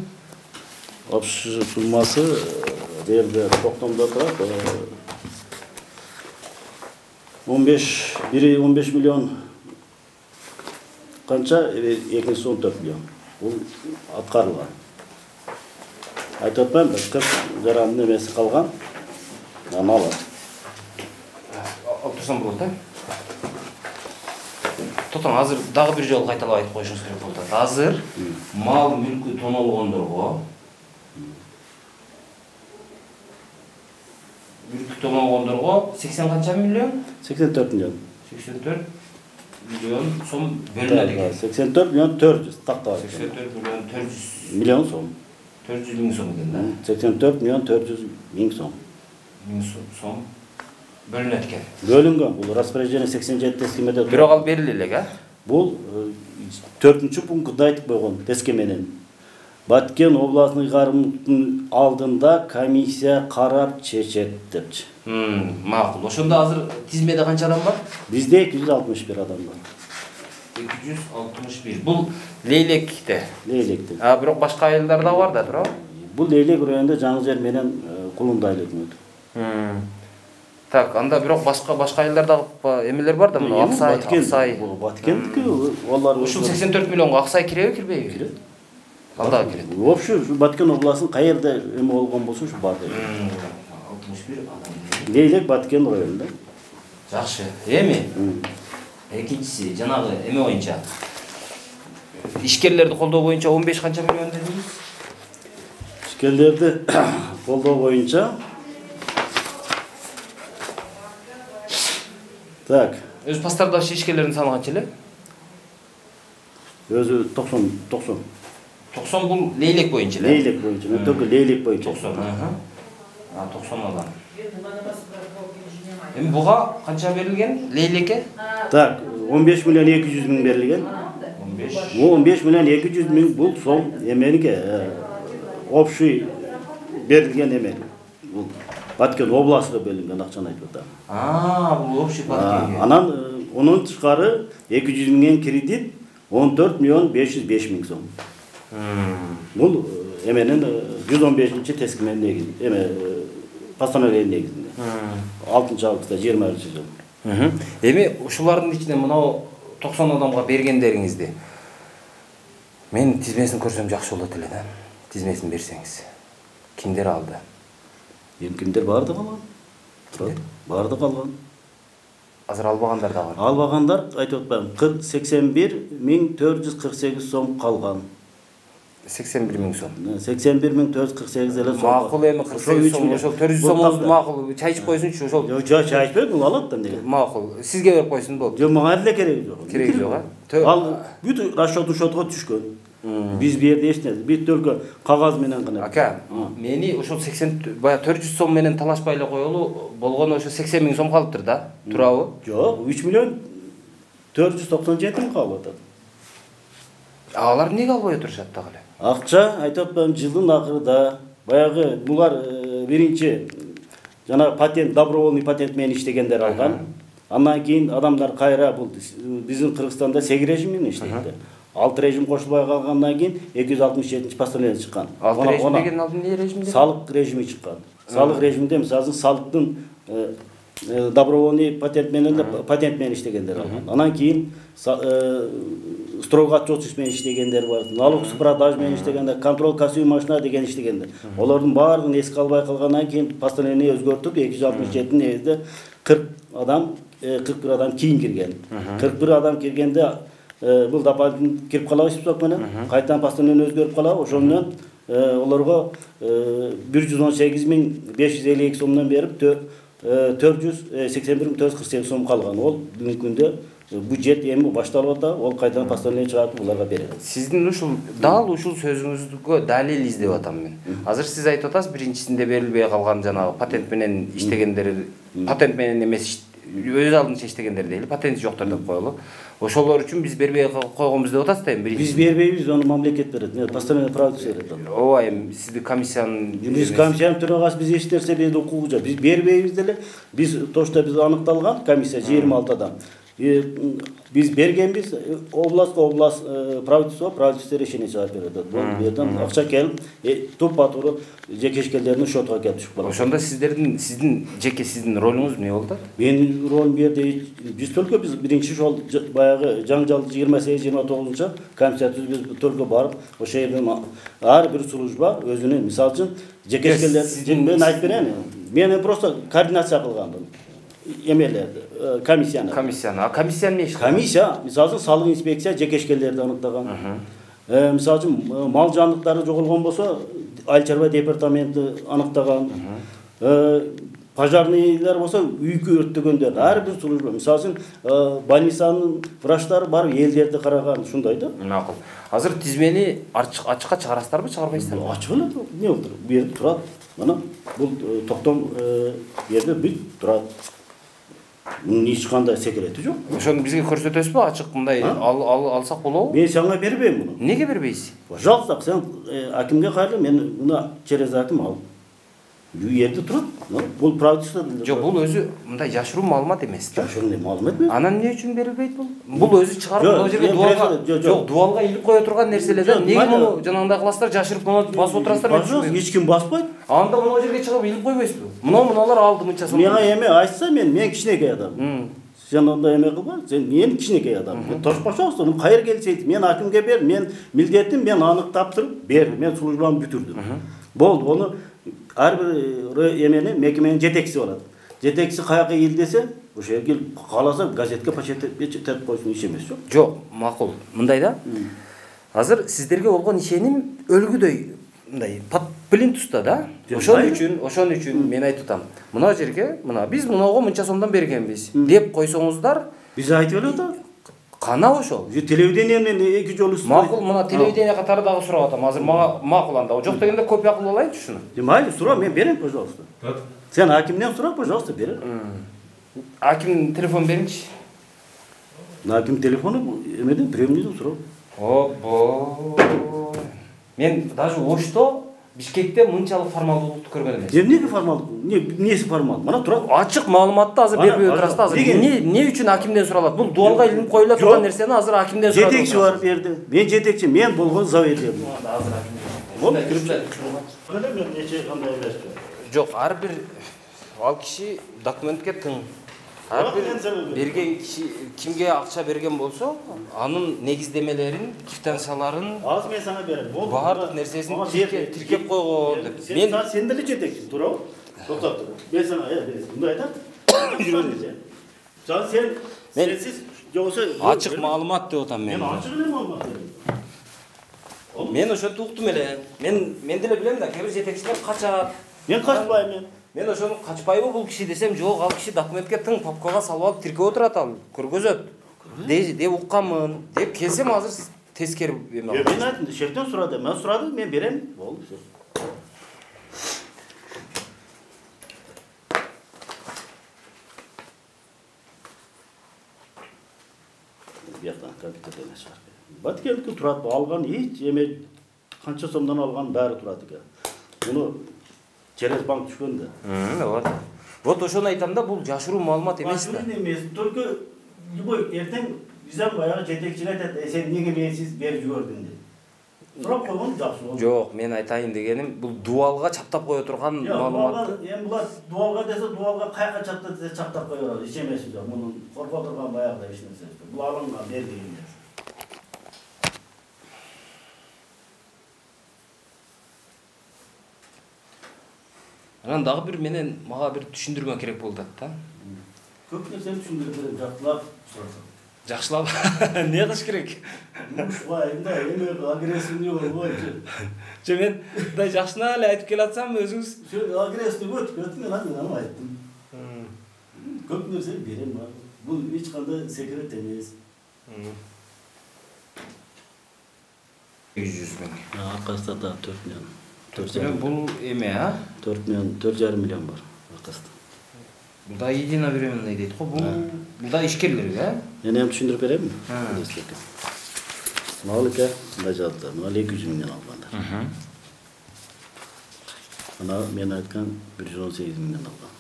Общий суммасы жерде токтомдо турат. он беш бири он беш миллион канча, экинчиси он төрт миллион. Бул аткарылган. Айтып атпаймынбы, кырк жарандын эмеси калган. Аны алат.
Алып турсам болот, э? Тотоң, азыр дагы бир жолу кайталап айтып коюшуңуз керек болуп атат. Азыр мал мүлкү тонолгондорго мүлкү тонолгондорго сексен канча миллион?
сексен төрт миллион.
сексен төрт миллион сом бөлүнөт экен.
сексен төрт миллион төрт жүз тактап.
сексен төрт миллион төрт жүз
миллион сом.
төрт жүз миң сом экен да.
сексен төрт миллион төрт жүз миң сом.
миң сом бөлүнөт экен.
Бөлүнгөн. Бул распоряжение сексен жети тескемеде.
Бирок ал бериле элек, а?
Бул төртүнчү пунктта айтып койгон тескеменен. Баткен областный ыйгарымдын алдында комиссия карап чечет депчи.
Макул. Ошондо азыр тизмеде канча адам бар?
Бизде эки жүз алтымыш бир адам бар.
эки жүз алтымыш бир. Бул Лейлекте.
Лейлекте.
А бирок башка айылдар да бар да, туурабы?
Бул Лейлек районунда жаңы жер менен Кулунда айыл өкмөтү.
Так, анда бирок башка башка айылдарда эмелер бар да, мына Аксай, Аксай.
Баткендики алар
ушул сексен төрт миллионго Аксай киреби, кирбейби? Кирет. Кандай кирет?
Вообще Баткен областынын каерде эме болгон болсо ушу бар дейт.
алтымыш бир адам.
Лейлек Баткен районунда.
Жакшы. Эми экинчиси жанагы эме боюнча ишкерлерди колдоо боюнча он беш канча миллион дедиңиз?
Ишкерлерди колдоо боюнча Так.
Өз пастардагы ишкерлердин саны канча эле?
Өзү токсон токсон.
токсон бул Лейлек боюнча эле?
Лейлек боюнча, мен только Лейлек боюнча.
токсон, а токсон адам. Эми буга канча берилген? Лейлекке?
Так, он беш миллион эки жүз миң берилген.
он беш.
он беш миллион эки жүз миң бул сом эменики общий берилген эме. Бул Баткен областыга бөлүнгөн акчаны айтып атам.
А, бул общий Баткенге.
Анан онун тышкары эки жүз миңден кредит он төрт миллион беш жүз беш миң сом. Бул эменин жүз он бешинчи тескименин негизи, эме постановление негизинде. алтынчы августта жыйырманчы жыл.
Эми ушулардын ичинде мынау токсон адамга бергендериңизди мен тизмесин көрсөм жакшы болот эле да. Тизмесин берсеңиз. Кимдер алды?
Эми кимдер барды калган? Барды калган.
Азыр албагандар да бар.
Албагандар айтып атпаймынбы, сексен бир миң төрт жүз кырк сегиз сом калган.
сексен бир миң сом.
сексен бир миң төрт жүз кырк сегиз эле сом.
Макул эми кырк сегиз сом, ошол төрт жүз сомуңузду макул чай ичип койсунчу, ошол.
Жок, чай ичпейт, бул алат да эмне.
Макул. Сизге берип койсун болду.
Жок, мага деле кереги жок.
Кереги жок, а?
Ал бүт расчет учетко түшкөн. Биз бу жерде эч нерсе, бүт только кагаз менен гана.
Ака, мени ошол сексен бая төрт жүз сом менен талашпай эле коелу болгону ошо сексен миң сом калыптыр да, туурабы?
Жок, үч миллион төрт жүз токсон жети миң калып атат.
Алар эмнеге албай отурушат дагы эле?
Акча айтып атпаймынбы, жылдын акырында баягы булар биринчи жана патент, добровольный патент менен иштегендер алган. Андан кийин адамдар кайра бул биздин Кыргызстанда сегиз режим менен иштейт. алты режим кошулбай калгандан кийин эки жүз алтымыш жетинчи постановление чыккан.
алты режим деген алдын эмне режим деп?
Салык режими чыккан. Салык режиминде мисалы салыктын добровольный патент менен патент менен иштегендер алган. Анан кийин стройга отчетчик менен иштегендер бар. Налог с продаж менен иштегендер, контроль кассовый машина деген иштегендер. Олордун баардыгын эске албай калгандан кийин постановление өзгөртүп эки жүз алтымыш жетинин негизинде кырк адам, кырк бир адам кийин кирген. кырк бир адам киргенде бул дополнительно кирип калабыз деп менен кайтадан постановление өзгөрүп калабы. Ошол менен олорго бир жүз он сегиз миң беш жүз элүү эки сомдон берип төрт жүз сексен бир миң төрт жүз кырк сегиз сом калган. Ол бүгүнкү күндө бюджет эми башталып атат, ол кайдан постановление чыгарып буларга берет.
Сиздин ушул дал ушул сөзүңүзгө далил издеп атам мен. Азыр сиз айтып атасыз, биринчисинде берилбей калган жанагы патент менен иштегендер, патент менен эмес өз алдынча иштегендер дейли, патенти жоктор деп коелу. Ошолор үчүн биз бербей койгонбуз деп атасыз да эми биринчи.
Биз бербейбиз, аны мамлекет берет. Постановление правительство берет.
Ооба, эми сиздин комиссиянын
биз комиссиянын төрагасы биз эч нерсе бизде укугу жок. Биз бербейбиз деле. Биз тошто биз аныкталган комиссия жыйырма алты адам. Биз бергенбиз областка област правительство правительство решение чыгарып берет. Бул жерден акча келип тупа туура жеке ишкерлердин счетуна келип түшүп калат.
Ошондо сиздердин сиздин жеке сиздин ролуңуз эмне болду?
Менин ролум бу жерде биз только биз биринчи ошол баягы жаңжал жыйырма сегиз жыйырма тогузунчу комиссия түзүп биз только барып ошол жерден ар бир служба өзүнүн мисалы үчүн жеке ишкерлер мен айтып берейин. Мен просто координация кылгандым. Эмелерди, комиссияны.
Комиссияны. А комиссия эмне иш кылат?
Комиссия, мисалы салык инспекция жеке ишкерлерди аныктаган. Э, мисалы үчүн мал жандыктары жоголгон болсо, айыл чарба департаменти аныктаган. Э, пожарныйлар болсо үйкү өрттөгөндөр ар бир служба мисалы үчүн больницанын врачтары барып элдерди караган ушундай да.
Макул. Азыр тизмени ачыкка чыгарасыздарбы, чыгарбайсыздарбы?
Ачык эле не болду? Бу жерде турат. Мына бул токтом жерде бүт турат. Мунун эч кандай секрети жок.
Ошону бизге көрсөтөсүзбү? Ачык мындай алсак болобу?
Мен сага бербейм муну.
Неге бербейсиз?
Пожалуйста, сен акимге кайрыл, мен мына через аким ал. Бул жерде турат. Бул правительство.
Жок, бул өзү мындай жашыруу маалымат эмес да.
Жашыруу маалымат эмес.
Анан эмне үчүн берилбейт бул? Бул өзү чыгарып бул жерге дуалга, жок, дуалга илип кое турган нерселер да. Неге муну жанагындай кыласыздар, жашырып муну басып отурасыздар?
Пожалуйста, эч ким баспайт.
Анда мына жерге чыгып илип койбойсузбу? Мына мыналар алды мынча сом.
Мага эме айтса, мен мен кичинекей адам. Сен онда эме кылба, сен мен кичинекей адам. Тошпошобуз, муну кайер келсейт, мен акимге бер, мен милдетим, мен анык таптырып бердим, мен службамды бүтүрдүм. Болду, ону ар бир эмени мекеменин жетекчиси болот. Жетекчиси каяка ил десе, ошо жерге кааласа газетке печатеп койсун, иш эмес жок.
Жок, макул. Мындай да. Азыр сиздерге болгон ишеним өлгүдөй мындай плинтуста да. Ошон үчүн, ошон үчүн мен айтып атам. Мына жерге, мына биз мынага мынча сомдон бергенбиз деп койсоңуздар,
биз айтып эле атабыз.
Кана ошол.
Телевидениеден эки жолу үстү.
Макул, мына телевидение катары дагы сурап атам. Азыр мага макул анда. Жок дегенде копия кылып алайынчы ушуну.
Майли, сура, мен берем, пожалуйста. Сен акимден сура, пожалуйста, бер.
Аким телефон бериңчи.
Аким телефону эмеден премияден сурап.
Обо. Мен даже Ошто, Бишкекте мынчалык формалдуулукту көргөн эмес.
Эмнеге формалдуу? Не, эмнеси формал? Мына турат.
Ачык маалыматты азыр бербей отурасыздар. Азыр эмне эмне үчүн акимден суралат? Бул дуалга илинип коюла турган нерсени азыр акимден сурап.
Жетекчи бар берди. Мен жетекчи, мен болгон заведение.
Азыр акимден.
Болду, кирипчи. Кандай мен нече кандай эмеспи?
Жок, ар бир ал киши документке тың. Ар бир берген киши кимге акча берген болсо, анын негиздемелерин, квитанцияларын,
азыр мен сага берем. Болду.
Баардык нерсесин тиркеп койгон деп.
Мен сен деле жетекчи, туурабы? Токтоп тур. Мен сага берем. Мындай айтам. Жүрөңүз. Жан сен сенсиз жоксо
ачык маалымат деп атам мен.
Мен ачык эле маалымат берем.
Мен ошентип уктум эле. Мен мен деле билем да, кээ бир жетекчилер качат.
Мен качпайм мен.
Мен ошону качпайбы бул киши десем, жок, ал киши документке тың папкага салып алып тиркеп отурат ал, көргөзөт. Деп укканмын, деп келсем азыр тескери эме.
Мен айттым, шефтен сурады, мен сурадым, мен берем. Болду. Бияктан компьютер эмес бар. Баткелдики турат, алган эч эме канча сомдон алган баары турат экен. Муну через банк түшкөн да.
Вот. Вот ошону айтам да, бул жашыруу маалымат эмес да.
Эмес, только любой эртең бизden баягы жетекчиге айтат, сен неге менсиз берип жибердиң деп. Сурап койгон жакшы болду.
Жок, мен айтайын дегеним, бул дуалга чаптап кое турган маалыматты.
Эми булар дуалга десе, дуалга кайка чаптап десе чаптап кое берет. Эч эмес жок. Мунун корко турган баягыда эч нерсе жок. Бул алынган, берилген нерсе.
Анан дагы бир менен мага бир түшүндүрмө керек болду да.
Көп нерсени түшүндүрүп берем, жактылап сурасам.
Жакшылап эмне кылыш керек?
Ушуга эмне эме агрессивный болбойчу.
Же мен мындай жакшына эле айтып келатсам өзүңүз
агрессивный өтүп кетти, мен аны айттым. Көп нерсе берем бар. Бул эч кандай секрет эмес.
эки жүз миң.
Акаста да төрт миллион.
төрт миллион бул эме, а?
төрт миллион, төрт жарым миллион бар акаста.
Бул единовременный дейт го, бул бул да ишкерлерге, а?
Мен эми түшүндүрүп беремби? Малыка мындай жазды, мына эки жүз миңден алгандар. Ана мен айткан бир жүз он сегиз миңден алган.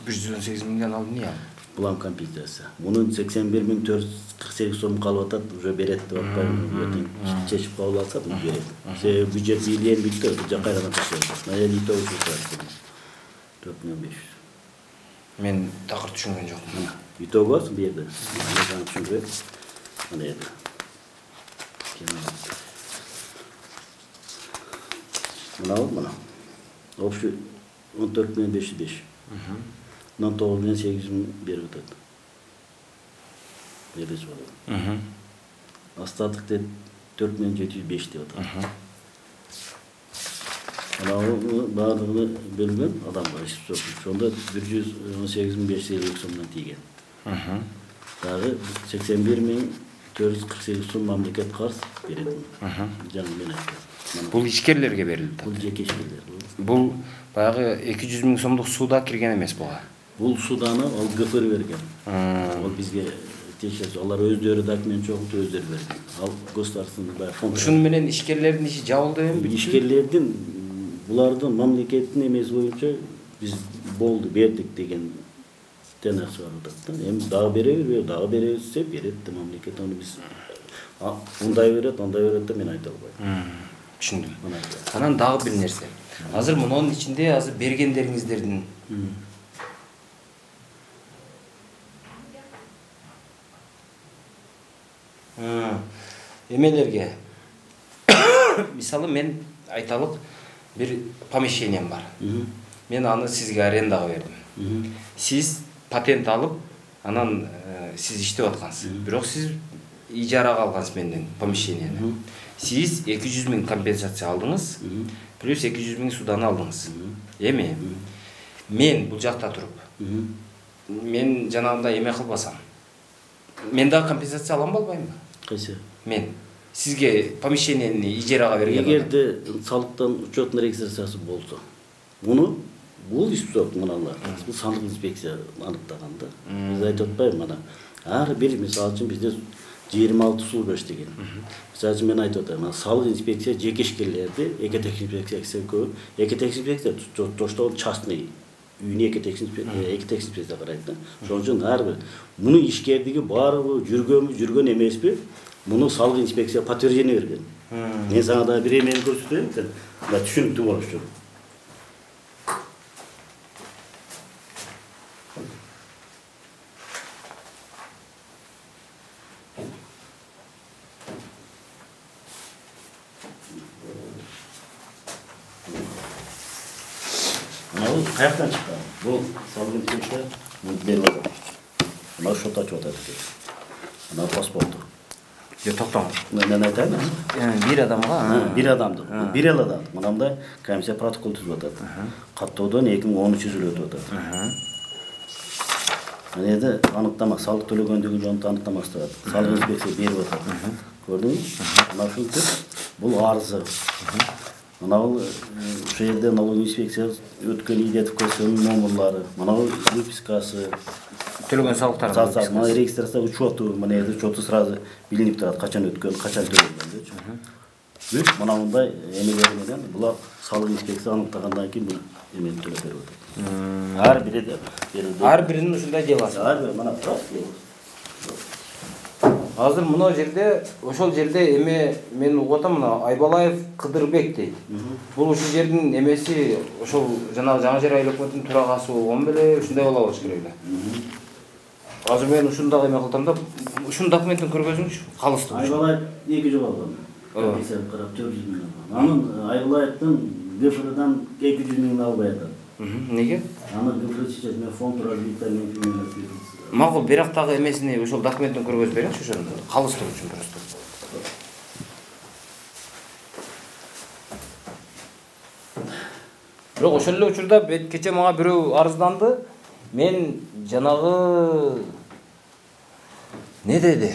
бир жүз он сегиз миңден алып эмне?
Булам компьютерси. Мунун сексен бир миң төрт жүз кырк сегиз сом калып атат, уже берет деп атпаймынбы? Чечип кабыл алса, бул берет. Себеби бюджет бийлен бүттү, бюджет кайрадан ташыйт. Мына элүү төрт миң беш жүз.
Мен такыр түшүнгөн жокмун.
Итогос бу жерде. Мен түшүндүрөм. Мына жерде. Мына мына. Общий он төрт миң беш жүз беш. Мына тогуз миң сегиз жүз миң берип атат. Бербеш болот. Остаток деп төрт миң жети жүз беш деп атат. Анау баардыгы бөлгөн адамга иш сотуп. Ошондо бир жүз он сегиз миң беш жүз элүү сомдон тийген. Дагы сексен бир миң төрт жүз кырк сегиз сом мамлекет карыз берет. Жаңы мен айттым.
Бул ишкерлерге берилди.
Бул жеке ишкерлер.
Бул баягы эки жүз миң сомдук суда кирген эмес буга.
Бул суданы ал ГФР берген. Ал бизге тиешеси, алар өздөрү документ чогултуп өздөрү берген. Ал государственный баягы фонд.
Ушуну менен ишкерлердин иши жабылды эми?
Ишкерлердин булардын мамлекеттин эмеси боюнча биз болду, бердик деген тенак чыгарып атат да. Эми дагы беребиз, дагы беребиз десе берет да мамлекет. Аны биз мындай берет, андай берет да мен айта албайм.
Түшүндүм. Анан дагы бир нерсе. Азыр мунун ичинде азыр бергендериңиздердин эмелерге мисалы мен айталык бир помещением бар. Мен аны сизге арендага бердим. Сиз патент алып, анан сиз иштеп аткансыз. Бирок сиз ижарага алгансыз менден помещенияны. Сиз эки жүз миң компенсация алдыңыз, плюс эки жүз миң судан алдыңыз. Эми мен бул жакта туруп, мен жанагындай эме кылбасам, мен дагы компенсация алам болбоймбу?
Кайсы?
Мен сизге помещенияны ижарага берген.
Эгерде салыктан учетный регистрациясы болсо, муну бул испсот мыналар. Бул сандык инспекция аныктаган да. Биз айтып атпайбы мына. Ар бир мисалы үчүн бизде жыйырма алты служба иштеген. Мисалы үчүн мен айтып атам, салык инспекция жеке ишкерлерди, экотехник инспекциясы көп. Экотехник инспекция тоштол частный үйүнө экотехник инспекция карайт да. Ошон үчүн ар бир муну ишкердиги баары жүргөнбү, жүргөн эмеспи? Муну салык инспекция подтверждение берген. Мен сага да бир эмени көрсөтөйүн, сен да түшүнүктүү болушу. Мынау каяктан чыккан? Бул салык инспекция берип атат. Мына шот ачып атат экен. Мына паспорту.
Yo токтоңуз.
Мен айтайын.
Бир адамга,
бир адамды. Бир эл адам. Мынандай комиссия протокол түзүп атат. Каттоодон эки миң он үч жылы өтүп атат. Анеде аныктама салык төлөгөндүгү жөнүндө аныктамасы бар. Салык инспекция берип атат. Көрдүңүзбү? Мына ушинтип бул арызы. Мына бул ошол жерде налог инспекция өткөн идентификациянын номерлары, мына выпискасы,
төлөгөн салыктар.
Мына регистрация учету, мына жерде учету сразу билинип турат, качан өткөн, качан төлөнгөн. Бүт мына мындай эмелер менен булар салык инспекция аныктагандан кийин бул эмени төлөп берип атат. Ар бири берилди.
Ар биринин ушундай делосы.
Ар бири мына турат.
Азыр мына жерде, ошол жерде эме мен угуп атам, мына Айбалаев Кыдырбек дейт. Бул ушул жердин эмеси ошол жанагы Жаңы Жер айыл өкмөтүнүн төрагасы болгон беле, ушундай боло болуш керек эле. Азыр мен ушундагы эме кылдым да, ушунун документин көргөзүңүзчү, калыстуу.
Айбалаев эки жыл алган. Эсеп карап төрт жүз миң алган. Анын Айбалаевдин ГФРдан эки жүз миң албай атат.
Неге?
Аны ГФР чечет, мен фонд развития менен финансировать.
Макул, бирок дагы эмесини ошол документтин көргөзүп береңичи ошону. Калыстуу үчүн просто. Бирок ошол эле учурда кече мага бирөө арызданды. Мен жанагы не деди?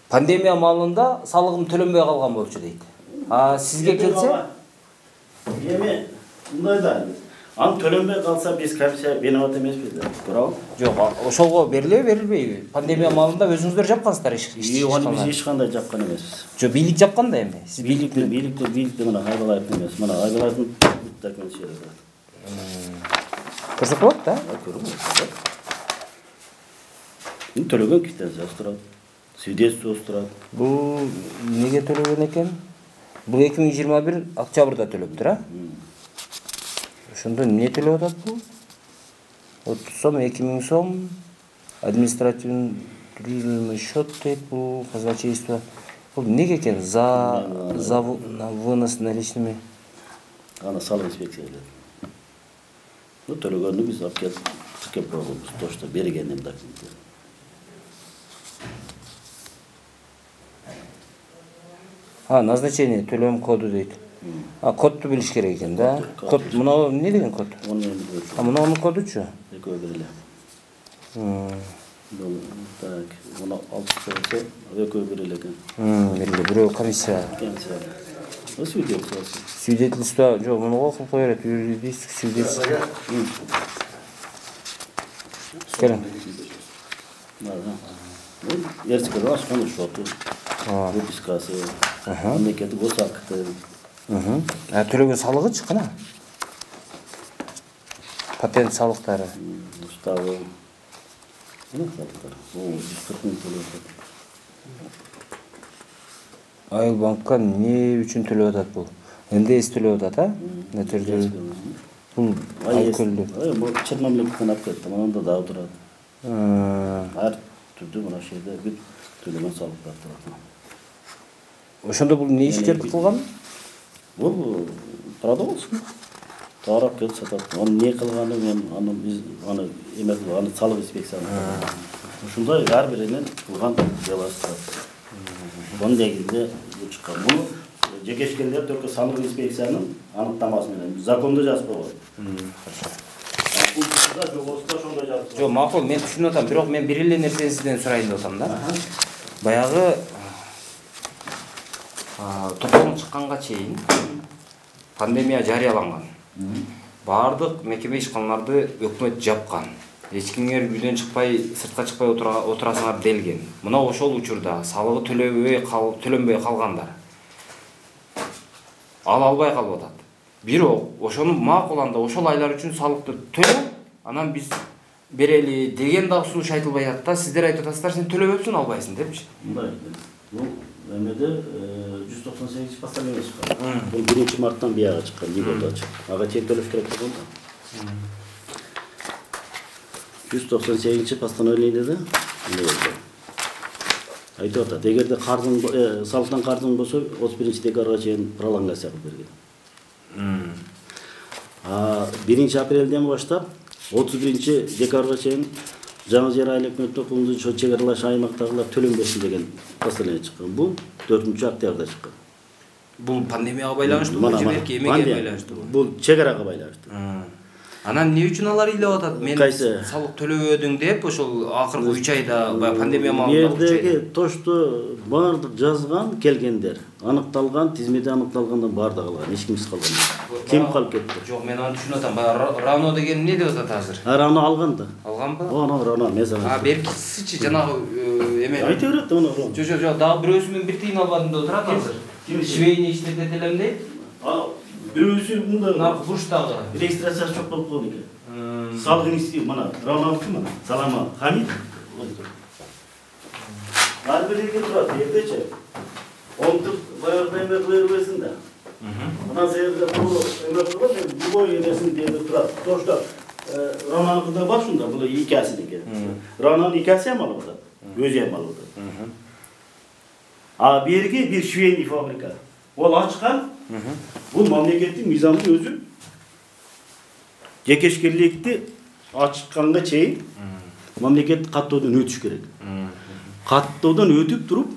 Пандемия маалында салыгым төлөнбөй калган болчу дейт. А сизге келсе?
Эми мындай да. Аны төлөнбөй калса биз комиссия берип атат эмеспиз да. Туурабы?
Жок, ошолго берилеби, берилбейби? Пандемия маалында өзүңүздөр жапкансыздар иш.
Аны биз эч кандай жапкан эмеспиз.
Жок, бийлик жапкан да эми.
Сиз бийликти, бийликти, бийликти мына Айбалаев эмес. Мына Айбалаевдин документи берилди.
Көрсөтүп болот да?
Көрүп. Ин төлөгөн квитанциясы турат. Свидетельствосы турат.
Бул неге төлөгөн экен? Бул эки миң жыйырма бир октябрда төлөптүр, а? Ошондо эмне төлөп атат бул? отуз сом, эки миң сом, административный счет дейт бул, казначейство. Бул неге экен? За за вынос наличными.
Аны салык инспекция эле. Ну төлөгөндү биз алып келип тикеп койгонбуз, то что берген эми документтер.
А, назначение төлөм коду дейт. А кодду билиш керек экен да. Код мына эмне деген код? А мунун кодучу?
Экөө бир эле. Бул так, мына алтысы экөө бир эле экен.
Бир бирөө комиссия.
Свидетельство.
Свидетельство жок, муну кылып кое берет. Юридический свидетельство. Келин.
Ерсикада ашкан шоту. Выпискасы. Мемлекеттик гос акты.
А төлөгөн салыгычы кана? Патент салыктары.
Уставы. Мына салыктар. О, жүз кырк миң төлөп.
Айыл банкка не үчүн төлөп атат бул? Энде эс төлөп атат, а? Нөтөрдү. Бул айкөлдү.
Бул чет мамлекеттен алып кетти, мында дагы турат. Ар түрдүү мына жерде бүт төлөгөн салыктар турат.
Ошондо бул не иштерди кылган?
Бул продолжил. Тарап кел сатат. Аны не кылганы мен аны биз аны эме аны салык инспекциясы. Ушундай ар биринен кылган делосы. Бун негизинде чыккан. Бул жекешкендер только салык инспекциянын аныктамасы менен закондо жазып койгон.
Жок, макул, мен түшүнүп атам, бирок мен бир эле нерсени сизден сурайын деп атам да. Баягы тополоң чыкканга чейин пандемия жарыяланган. Бардык мекеме ишканаларды өкмөт жапкан. Эч кимдер үйдөн чыкпай, сыртка чыкпай отурасыңар делген. Мына ошол учурда салыгы төлөбөй төлөнбөй калгандар ала албай калып атат. Бирок ошону макуланда ошол айлар үчүн салыкты төлө, анан биз берели деген да сунуш айтылбай атат да. Сиздер айтып атасыздар, сен төлөбөпсүң, албайсың депчи.
Мындай. Бул эмеде жүз токсон сегизинчи постановление чыккан. Бул биринчи марттан бияга чыккан, Лигода чыккан. Ага чек төлөш керек болгон да. жүз токсон сегизинчи постановлениеде эмне болду? Айтып атат, эгерде карзың салыктан карзың болсо, отуз биринчи декабрга чейин пролонгация кылып берген. А биринчи апрелден баштап отуз биринчи декабрга чейин жаңы жер айыл өкмөттүн кулунду чек аралаш аймактагылар төлөнбөсүн деген постановление чыккан. Бул төртүнчү октябрда чыккан.
Бул пандемияга байланыштуу, жеберки эмеге байланыштуу?
Бул чек арага байланыштуу.
Анан эмне үчүн алар илеп атат? Мен салык төлөбөдүң деп, ошол акыркы үч айда пандемия маалында үч айда.
Жердеги тошту бардык жазган келгендер, аныкталган, тизмеде аныкталгандан бардыгы алган, эч кимсиз калган. Ким калып кетти?
Жок, мен аны түшүнүп атам. Баягы Рано деген эмне деп атат азыр?
Рано алган да.
Алганбы?
Оно Рано меза.
А беркисичи жанагы эме.
Айта берет оно.
Жок, жок, жок, дагы бирөөсү мен бир тыйын албадым деп турат азыр. Швейни иштетет элем дейт.
Бирөөсү мында
наркы буштагы
регистрациясы жок болуп калды экен. Салык институт мына Равнавский мына Салама Хамид. Ар бирге турат, эртечи. Онтуп баягы эме кылып бербесин да. Мына жерде бул эме кылып, любой нерсени деп турат. Тошто Равнавскийда бар шунда, бул икәсинеке. Равнавский икәсе эме алып атат. Өзү эме алып атат. А берге бир швейный фабрика. Ол ачкан. Бул мамлекеттин мыйзамы өзү жекешкерликти ачканга чейин мамлекет каттоодон өтүш керек. Каттоодон өтүп туруп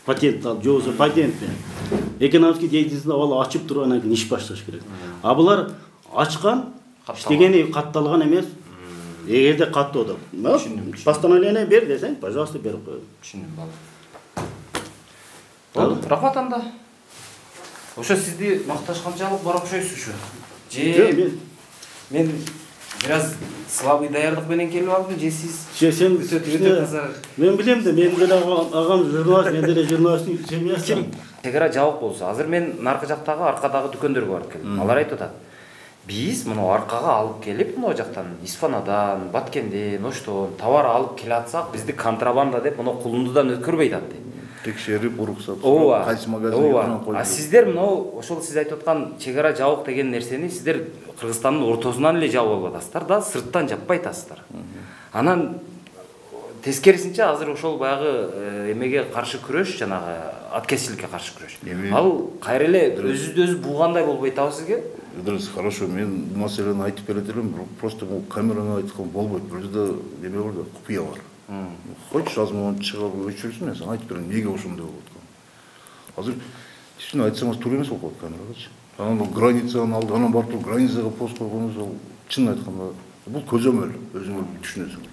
патент алып, же болбосо патент менен экономический деятельность ал ачып туруп анан кийин иш башташ керек. А булар ачкан, иштегени катталган эмес. Эгерде каттоодо постановление бер десең, пожалуйста, берип коет.
Түшүндүм, болду. Болду, рахмат анда. Ошо сизди макташканчалык бар окшойсуз ушу. Же мен бираз слабый даярдык менен келип алдым, же сиз?
Же сен мен билем да, мен деле агам журналист, мен деле журналисттин семьясы.
Чек ара жабык болсо, азыр мен наркы жактагы аркадагы дүкөндөргө барып келдим. Алар айтып атат. Биз муну аркага алып келип, муну жактан, Испанадан, Баткенден, Оштон товар алып келе атсак, бизди контрабанда деп муну кулундудан өткөрбөйт атты.
Текшерип, уруксат,
кайсы магазинге коюп. А сиздер мынау ошол сиз айтып аткан чек ара жабык деген нерсени сиздер Кыргызстандын ортосунан эле жабып алып атасыздар да, сырттан жаппай атасыздар. Анан тескерисинче азыр ошол баягы эмеге каршы күрөш, жанагы аткезчиликке каршы күрөш. Ал кайра эле өзүбүздү өзү булгандай болбой атабы сизге?
Дұрыс, хорошо, мен бул маселени айтып берет элем, просто бул камераны айткан болбойт. Бул жерде эме бар да, купуя бар. Хочешь, азыр чыгып өчүрсүн, мен сага айтып берем, эмнеге ошондой болуп аткан. Азыр чын айтсаңыз туура эмес болуп калат камерагачы. Анан бул границанын алды, анан барып туруп границага пост койгонубуз ал чын айтканда бул көзөмөл, өзүңөр түшүнөсүң.